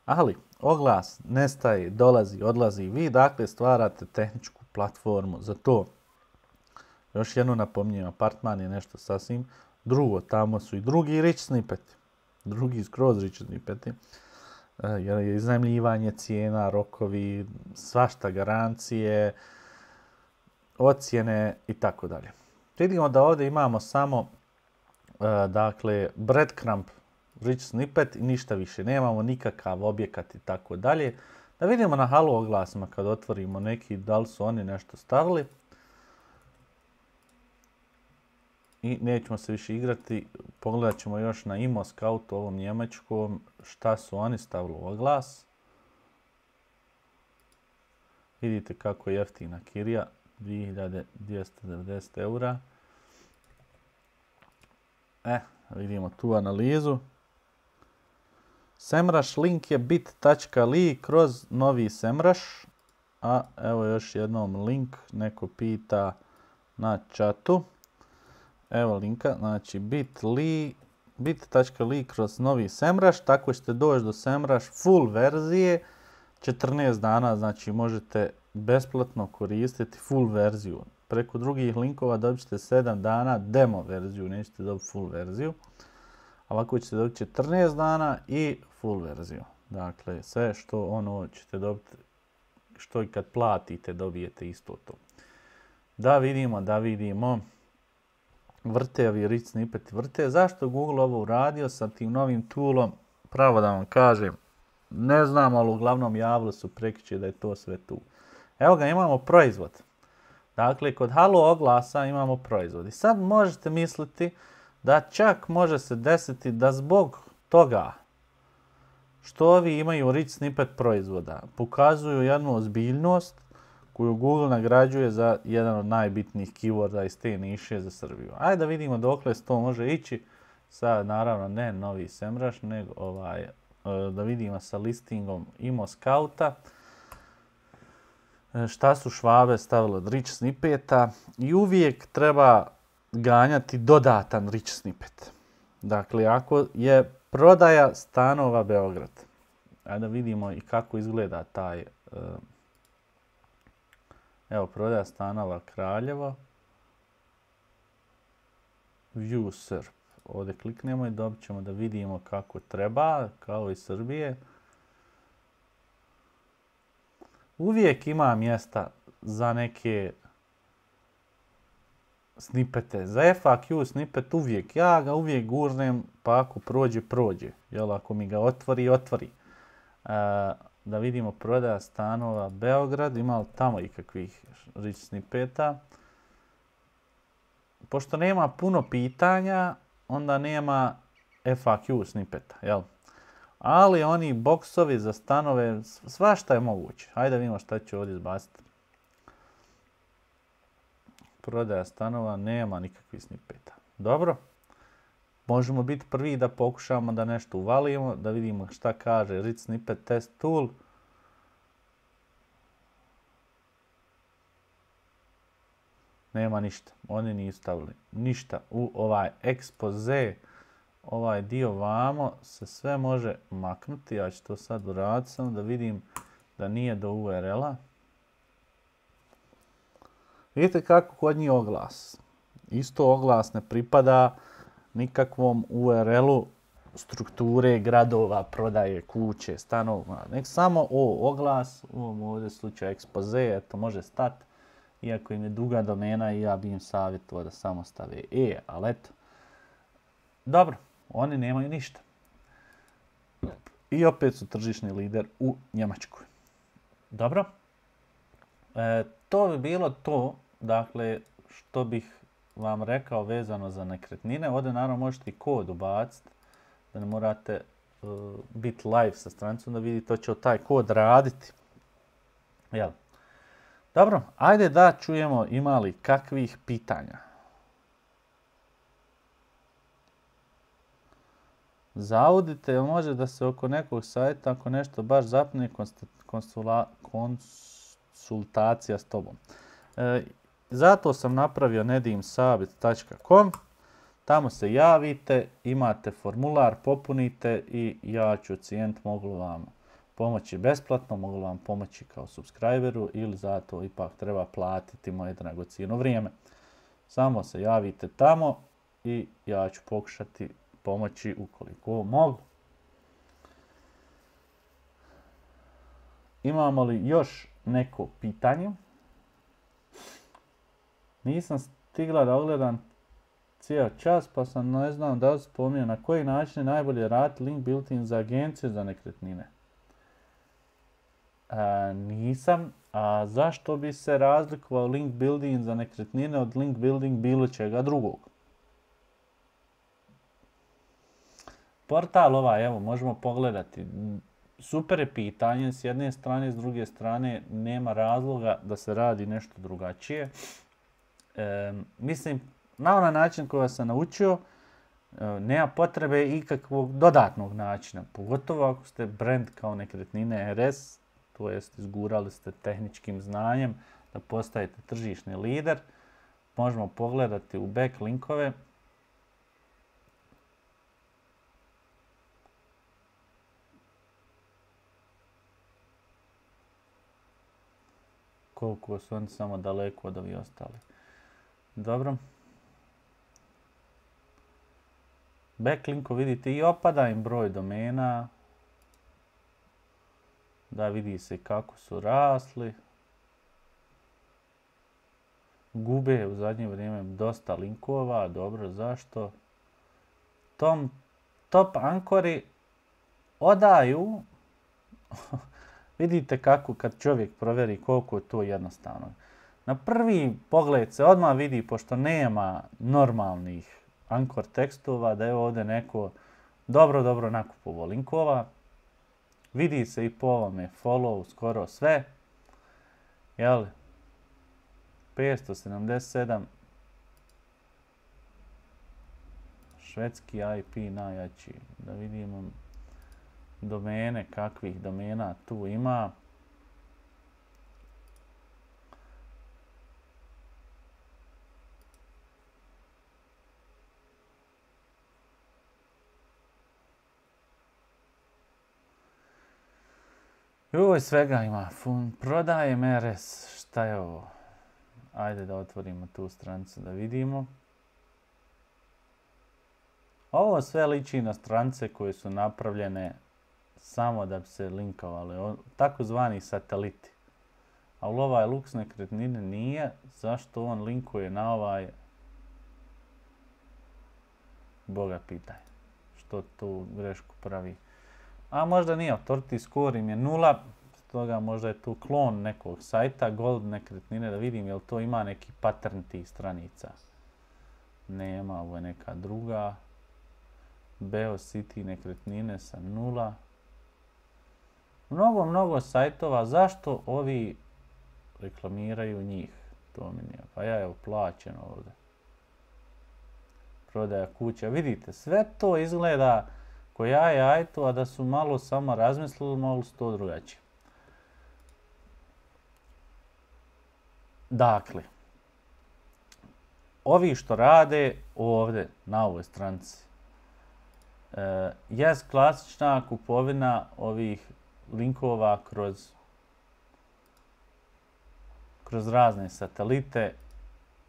Ali oglas nestaje, dolazi, odlazi. Vi dakle stvarate tehničku platformu za to. Još jedno napominjem, apartman je nešto sasvim drugo. Tamo su i drugi rich snippeti. Drugi skroz rich snippeti. Jer je iznajmljivanje cijena, rokovi, svašta garancije, ocjene i tako dalje. Vidimo da ovdje imamo samo dakle breadcrumb rich snippet i ništa više. Nemamo nikakav objekat i tako dalje. Da vidimo na halo oglasima kad otvorimo neki, da li su oni nešto stavili. I nećemo se više igrati. Pogledat ćemo još na Imo Scout, ovom njemačkom, šta su oni stavili u oglas. Vidite kako je jeftina kirija, dvije hiljade dvjesto devedeset eura. E, vidimo tu analizu. Semrush link je bit točka li kroz novi Semrush. A evo još jednom link, neko pita na chatu. Evo linka, znači bit.ly, bit točka li kroz novi Semrush, tako ćete doći do Semrush full verzije, četrnaest dana, znači možete besplatno koristiti full verziju. Preko drugih linkova dobit ćete sedam dana demo verziju, nećete dobiti full verziju. Ovako ćete dobiti četrnaest dana i full verziju. Dakle, sve što ono ćete dobiti, što i kad platite dobijete isto to. Da vidimo, da vidimo. Vrte ovi rich snippet vrte. Zašto Google ovo uradio sa tim novim toolom? Pravo da vam kažem, ne znam, ali uglavnom javili su prekjučer da je to sve tu. Evo ga, imamo proizvod. Dakle, kod halo oglasa imamo proizvod. I sad možete misliti da čak može se desiti da zbog toga što ovi imaju rich snippet proizvoda pokazuju jednu ozbiljnost koju Google nagrađuje za jedan od najbitnijih keyworda iz te niše za Srbiju. Ajde da vidimo dokle to može ići. Sad naravno ne novi Semrush, nego ovaj, da vidimo sa listingom Imo Scouta. Šta su Švabe stavili od rich snippeta i uvijek treba ganjati dodatan rich snippet. Dakle, ako je prodaja stanova Beograd, ajde da vidimo i kako izgleda taj, evo prodaja stanova Kraljevo, View S E R P. Ovdje kliknemo i dobit ćemo da vidimo kako treba, kao i Srbije. Uvijek ima mjesta za neke snipete. Za F A Q snipet uvijek, ja ga uvijek gurnem, pa ako prođe, prođe. Jel, ako mi ga otvori, otvori. E, da vidimo prodaja stanova Beograd, ima li tamo ikakvih rich snipeta. Pošto nema puno pitanja, onda nema F A Q snipeta, jel? Ali oni boksovi za stanove, svašta je moguće. Hajde da vidimo šta ću ovdje izbaciti. Prodaja stanova, nema nikakvih snipeta. Dobro. Možemo biti prvi da pokušamo da nešto uvalimo, da vidimo šta kaže Rich Snippet Test Tool. Nema ništa. Oni nisu stavili ništa u ovaj ekspoze. Ovaj dio vamo se sve može maknuti. Ja ću to sad uraditi samo da vidim da nije do U R L-a. Vidite kako kod njih oglas. Isto oglas ne pripada nikakvom U R L-u strukture gradova, prodaje, kuće, stanova. Nek samo o oglas, u ovom ovdje slučaju ekspoze, eto može stati. Iako im je duga domena i ja bi im savjetovao da samo stave E, ali eto. Dobro, oni nemaju ništa. I opet su tržišni lider u Njemačkoj. Dobro. E, to bi bilo to, dakle, što bih vam rekao vezano za nekretnine. Ovdje naravno možete i kod ubaciti, da ne morate uh, biti live sa stranicom, da vidite to će taj kod raditi. Jel? Dobro, ajde da čujemo ima li kakvih pitanja. Zaudite, jel može da se oko nekog sajta, ako nešto baš zapne, konstula, konsultacija s tobom. E, zato sam napravio nedimsabit tačka com. Tamo se javite, imate formular, popunite i ja ću ocijeniti mogu vam pomoći besplatno, mogu vam pomoći kao subscriberu ili zato ipak treba platiti moje dragocjeno vrijeme. Samo se javite tamo i ja ću pokušati pomoći ukoliko mogu. Imamo li još neko pitanje? Nisam stigla da ogledam cijel čas, pa sam ne znam da li spominio na koji način je najbolje raditi link building za agencije za nekretnine. A, nisam. A zašto bi se razlikovao link building za nekretnine od link building bilo čega drugog? Portal ovaj, evo, možemo pogledati. Super je pitanje, s jedne strane, s druge strane, nema razloga da se radi nešto drugačije. E, mislim, na onaj način koji sam naučio, e, nema potrebe ikakvog dodatnog načina. Pogotovo ako ste brand kao nekretnine R S, to jest izgurali ste tehničkim znanjem da postajete tržišni lider. Možemo pogledati u backlinkove. Koliko su oni samo daleko od ovih ostali. Dobro. Backlinko vidite i opada im broj domena. Da vidi se kako su rasli. Gube u zadnje vrijeme dosta linkova. Dobro, zašto? Tom, top ankori odaju. Vidite kako kad čovjek provjeri koliko je to jednostavno. Na prvi pogled se odmah vidi, pošto nema normalnih ankor tekstova, da je ovdje neko dobro, dobro nakupovo linkova. Vidi se i po ovome follow skoro sve. Jel? petsto sedamdeset sedam. Švedski I P najjači. Da vidimo domene, kakvih domena tu ima. Joj, svega ima. Fun, prodajem R S. Šta je ovo? Ajde da otvorimo tu stranicu da vidimo. Ovo sve liči na stranice koje su napravljene samo da bi se linkovali. Takozvani sateliti. A u ovaj Lux nekretnine nije. Zašto on linkuje na ovaj? Boga pitaj. Što tu grešku pravi? A možda nije, authority score im je nula, stoga možda je tu klon nekog sajta, Gold nekretnine, da vidim jel to ima neki pattern tih stranica. Nema, ovo je neka druga. Beo City nekretnine sa nula. Mnogo, mnogo sajtova, zašto ovi reklamiraju njih? To mi nije, pa ja evo plaćeno ovdje. Prodaja kuća, vidite, sve to izgleda ko jaje ajto, a da su malo samo razmislili, malo su to drugačije. Dakle, ovi što rade ovdje na ovoj stranici e, je klasična kupovina ovih linkova kroz, kroz razne satelite,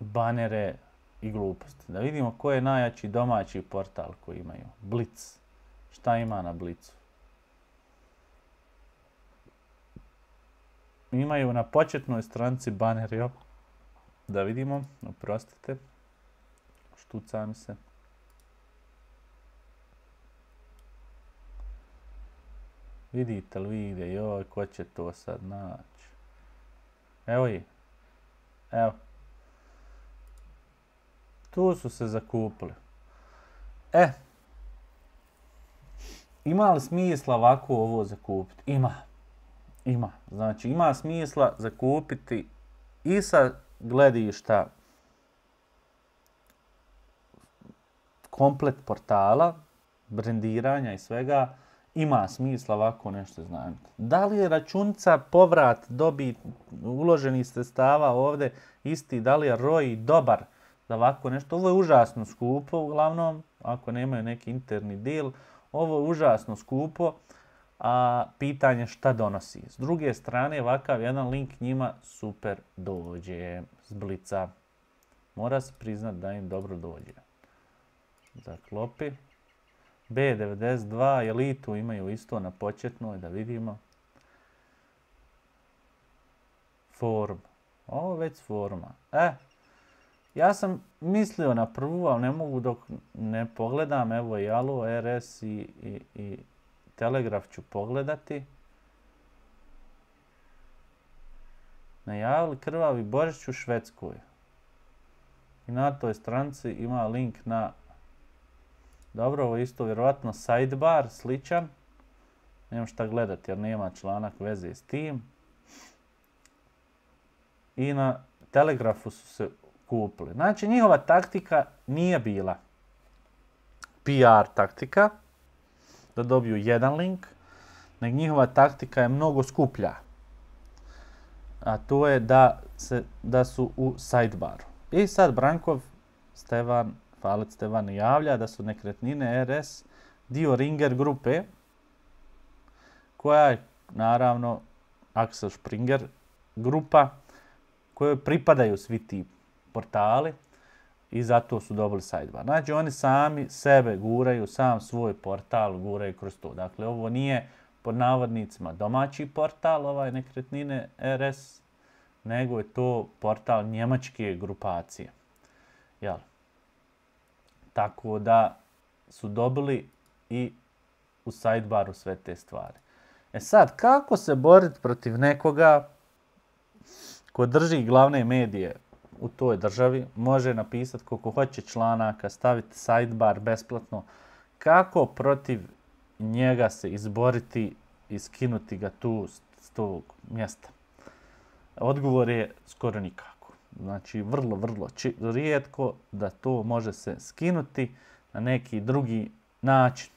banere i gluposti. Da vidimo ko je najjači domaći portal koji imaju. Blitz. Šta ima na Blitzu? Imaju na početnoj stranici baner, jo. Da vidimo, oprostite. Štuca mi se. Vidite li vide, joj, ko će to sad naći? Evo je. Evo. Tu su se zakupili. E. Ima li smisla ovako ovo zakupiti? Ima. Ima. Znači, ima smisla zakupiti i sa gledišta komplet portala, brendiranja i svega, ima smisla ovako nešto iznajmiti. Da li je računica, povrat, dobit, uloženih sredstava ovdje isti, da li je R O I dobar za ovako nešto? Ovo je užasno skupo, uglavnom, ako nemaju neki interni deal, ovo je užasno skupo, a pitanje šta donosi. S druge strane, ovakav jedan link njima super dođe s blica. Mora se priznat da im dobro dođe. Zaklopi. B devedeset dva, Elitu imaju isto na početnoj, da vidimo. Forum. Ovo već s foruma. E, ja sam mislio na prvu, ali ne mogu dok ne pogledam. Evo i Alo, R S i, i, i Telegraf ću pogledati. Najavili krvavi Božić u Švedskoj. I na toj stranici ima link na... Dobro, ovo je isto vjerovatno sidebar, sličan. Nemam šta gledati jer nema članak veze s tim. I na Telegrafu su se kupili. Znači, njihova taktika nije bila P R taktika, da dobiju jedan link, nego njihova taktika je mnogo skuplja. A to je da, se, da su u sidebaru. I sad Brankov, Stevan, Falec Stevan javlja da su nekretnine R S dio Ringer grupe, koja je naravno Axel Springer grupa, kojoj pripadaju svi ti portali i zato su dobili sidebar. Znači oni sami sebe guraju, sam svoj portal guraju kroz to. Dakle, ovo nije pod navodnicima domaći portal, ovaj nekretnine R S, nego je to portal njemačke grupacije. Jel? Tako da su dobili i u sidebaru sve te stvari. E sad, kako se boriti protiv nekoga ko drži glavne medije u toj državi, može napisati koliko hoće članaka, staviti sidebar besplatno, kako protiv njega se izboriti i skinuti ga tu s tog mjesta? Odgovor je skoro nikako. Znači, vrlo, vrlo či, rijetko da to može se skinuti na neki drugi način.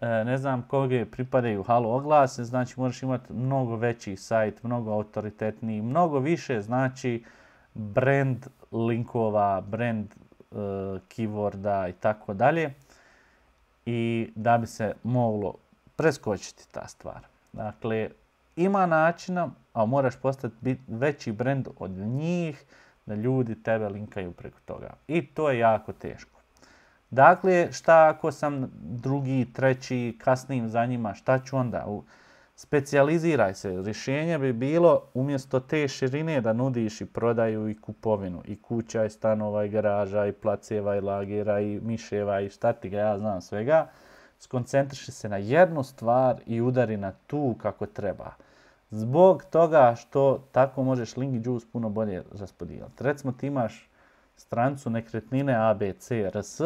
E, ne znam koga pripadaju Halo oglase, znači možeš imati mnogo veći sajt, mnogo autoritetniji, mnogo više, znači brand linkova, brand e, keyworda i tako dalje. I da bi se moglo preskočiti ta stvar. Dakle, ima načina, a moraš postati bit veći brand od njih, da ljudi tebe linkaju preko toga. I to je jako teško. Dakle, šta ako sam drugi, treći, kasnim za njima, šta ću onda? Specijaliziraj se. Rješenje bi bilo umjesto te širine da nudiš i prodaju i kupovinu. I kuća, i stanova, i garaža, i placeva, i lagera, i miševa, i šta ti ga ja znam svega. Skoncentriši se na jednu stvar i udari na tu kako treba. Zbog toga što tako možeš link juice puno bolje raspodijeliti. Recimo ti imaš strancu nekretnine A B C R S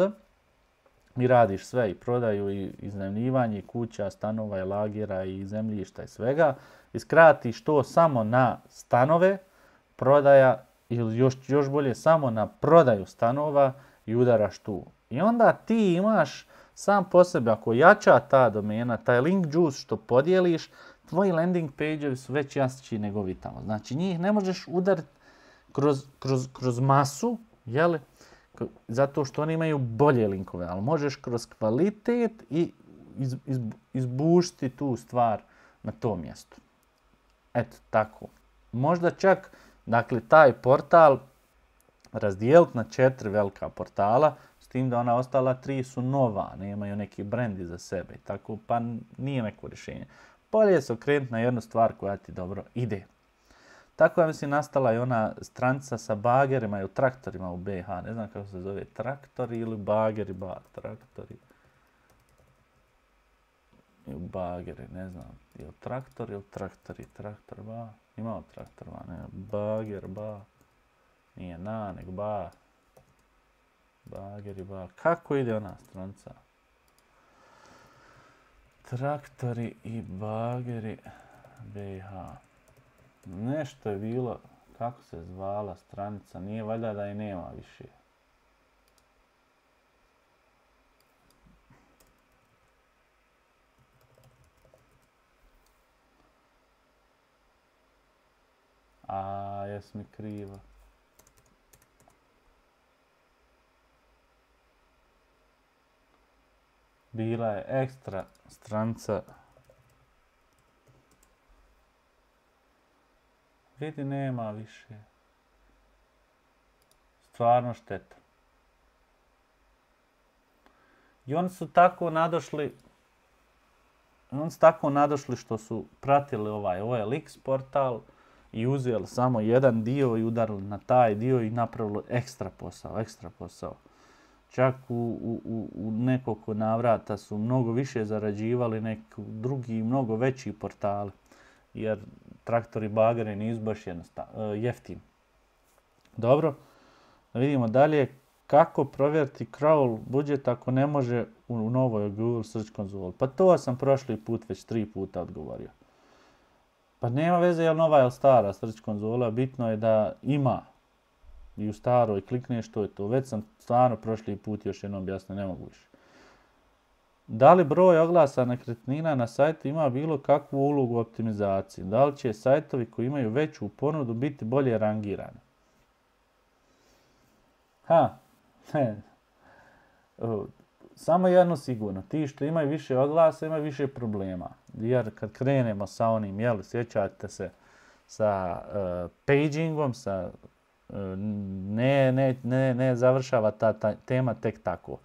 i radiš sve i prodaju i iznajmljivanje i kuća, stanova i lagera i zemljišta i svega. I skratiš to samo na stanove, prodaja ili još, još bolje samo na prodaju stanova i udaraš tu. I onda ti imaš sam po sebi, ako jača ta domena, taj link juice što podijeliš, tvoji landing page-evi su već jači nego vi tamo. Znači njih ne možeš udariti kroz, kroz, kroz masu, jeli? Zato što oni imaju bolje linkove, ali možeš kroz kvalitet i iz, iz, izbušiti tu stvar na tom mjestu. Eto, tako. Možda čak, dakle, taj portal razdijeliti na četiri velika portala, s tim da ona ostala tri su nova, nemaju neki brand iza sebe, tako pa nije neko rješenje. Bolje je se okrenuti na jednu stvar koja ti dobro ide. Tako je, mislim, nastala i ona stranica sa bagerima i u traktorima u B H. Ne znam kako se zove, traktori ili bageri, ba, traktori. I u bageri, ne znam, ili traktor ili traktori, traktor, ba. Imao traktor, ba, ne, bager, ba. Nije na, nego ba. Bageri, ba. Kako ide ona stranica? Traktori i bageri B H. Nešto je bilo, kako se zvala stranica, nije valjda da je nema više. A, jes mi krivo. Bila je ekstra stranca. Vidi, nema više. Stvarno šteta. I oni su tako nadošli, oni su tako nadošli što su pratili ovaj O L X portal i uzeli samo jedan dio i udarili na taj dio i napravili ekstra posao, ekstra posao. Čak u, u, u nekoliko navrata su mnogo više zarađivali neki drugi, mnogo veći portali. Jer traktori bageri nisu baš jednostavno, jeftini. Dobro, da vidimo dalje kako provjeriti crawl budžet ako ne može u novoj Google Search konzoli. Pa to sam prošli put već tri puta odgovorio. Pa nema veze je li nova ili stara Search konzola, bitno je da ima i u staroj klikneš, što je to. Već sam stvarno prošli put još jednom objasnio, ne mogu više. Da li broj oglasa nekretnina na sajtu ima bilo kakvu ulogu u optimizaciji? Da li će sajtovi koji imaju veću ponudu biti bolje rangirani? Ha, samo jedno sigurno. Ti što imaju više oglasa imaju više problema. Jer kad krenemo sa onim, jel, sjećate se sa uh, pagingom, sa, uh, ne, ne, ne, ne završava ta, ta tema tek tako.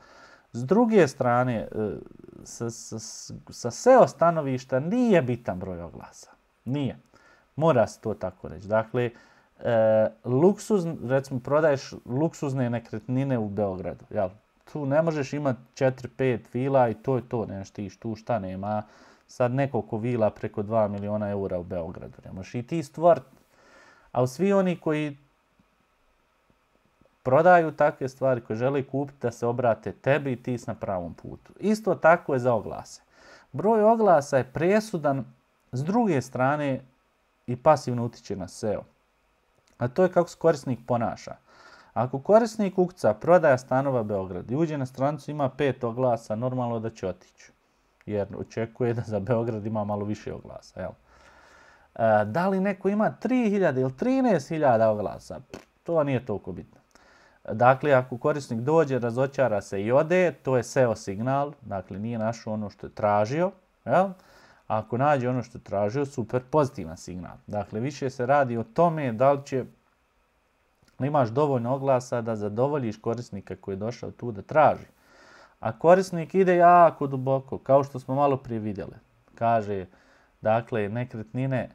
S druge strane, sa, sa, sa S E O stanovišta nije bitan broj oglasa. Nije. Mora se to tako reći. Dakle, e, luksuz, recimo, prodaješ luksuzne nekretnine u Beogradu. Jel? Tu ne možeš imati četiri pet vila i to je to. Nemaš ti tu šta nema. Sad nekoliko vila preko dva miliona eura u Beogradu. Ne možeš i ti stvoriti. A svi oni koji prodaju takve stvari koje žele kupiti da se obrate tebi i ti si na pravom putu. Isto tako je za oglase. Broj oglasa je presudan s druge strane i pasivno utiče na S E O. A to je kako se korisnik ponaša. Ako korisnik ukuca prodaja stanova Beograd i uđe na stranicu ima pet oglasa, normalno da će otići. Jer očekuje da za Beograd ima malo više oglasa. Jel? E, da li neko ima tri hiljade ili trinaest hiljada oglasa? To nije toliko bitno. Dakle, ako korisnik dođe, razočara se i ode, to je S E O signal, dakle nije našao ono što je tražio. Jel? A ako nađe ono što je tražio, super, pozitivan signal. Dakle, više se radi o tome da li će, imaš dovoljno oglasa da zadovoljiš korisnika koji je došao tu da traži. A korisnik ide jako duboko, kao što smo malo prije vidjeli. Kaže, dakle, nekretnine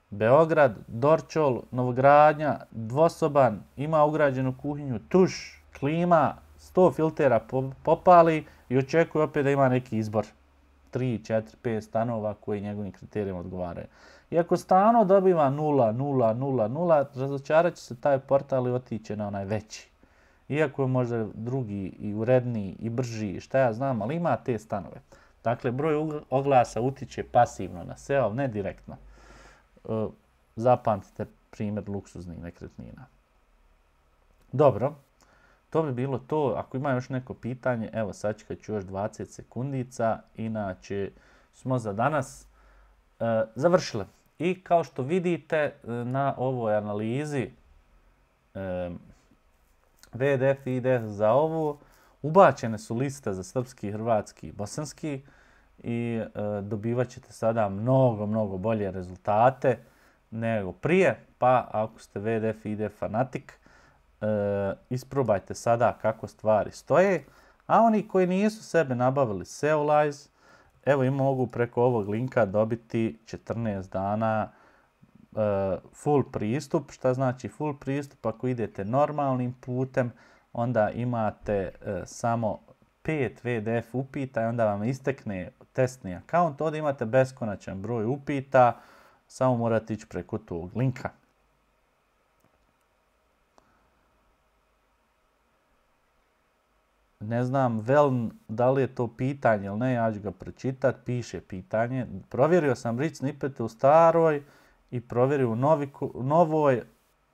Beograd, Dorčol, novogradnja, dvosoban, ima ugrađenu kuhinju, tuš, klima, sto filtera popali i očekuje opet da ima neki izbor. tri, četiri, pet stanova koji njegovim kriterijima odgovaraju. I ako stano dobiva nula, nula, nula, nula, razočarat će se taj portal i otiće na onaj veći. Iako je možda drugi i uredniji i brži, šta ja znam, ali ima te stanove. Dakle, broj oglasa utiče pasivno na S E O, ne direktno. Zapamtite primjer luksuznih nekretnina. Dobro, to bi bilo to. Ako ima još neko pitanje, evo sačekat ću još dvadeset sekundica, inače smo za danas e, završili. I kao što vidite na ovoj analizi e, V D F i I D F za ovo, ubačene su liste za srpski, hrvatski i bosanski i e, dobivat ćete sada mnogo, mnogo bolje rezultate nego prije, pa ako ste V D F i I D F fanatik, e, isprobajte sada kako stvari stoje, a oni koji nisu sebe nabavili Seolize, evo im mogu preko ovog linka dobiti četrnaest dana e, full pristup. Šta znači full pristup? Ako idete normalnim putem, onda imate e, samo pet V D F upita i onda vam istekne testni akaunt. Ovdje imate beskonačan broj upita, samo morate ići preko tog linka. Ne znam, Veln, da li je to pitanje ili ne, ja ću ga pročitati. Piše pitanje. Provjerio sam rich snippete u staroj i provjerio u novi, novoj.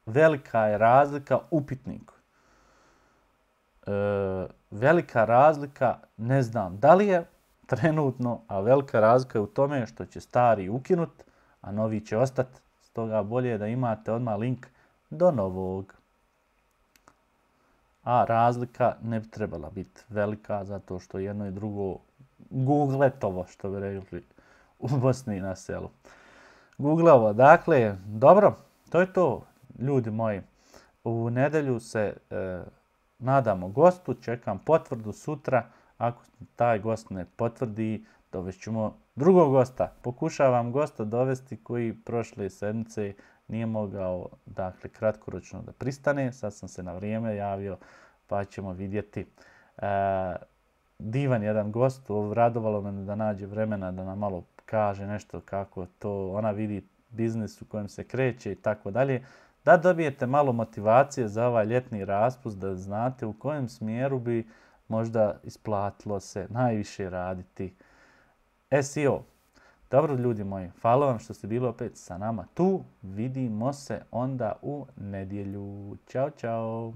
Velika je razlika upitniku. E, velika razlika, ne znam da li je trenutno, a velika razlika je u tome što će stari ukinut, a novi će ostati. toga bolje je da imate odmah link do novog. A razlika ne bi trebala biti velika zato što jedno i drugo googletovo, što bi rekli u Bosni na selu. Googleovo. Dakle, dobro, to je to, ljudi moji. U nedjelju se e, nadamo gostu, čekam potvrdu sutra. Ako taj gost ne potvrdi, dovešćemo drugog gosta. Pokušavam gosta dovesti koji prošle sedmice nije mogao, dakle, kratkoročno da pristane. Sad sam se na vrijeme javio, pa ćemo vidjeti. E, divan jedan gost, radovalo me da nađe vremena da nam malo kaže nešto kako to ona vidi biznis u kojem se kreće i tako dalje. Da dobijete malo motivacije za ovaj ljetni raspust, da znate u kojem smjeru bi možda isplatilo se najviše raditi S E O. Dobro, ljudi moji, hvala vam što ste bili opet sa nama tu. Vidimo se onda u nedjelju. Ćao, čao.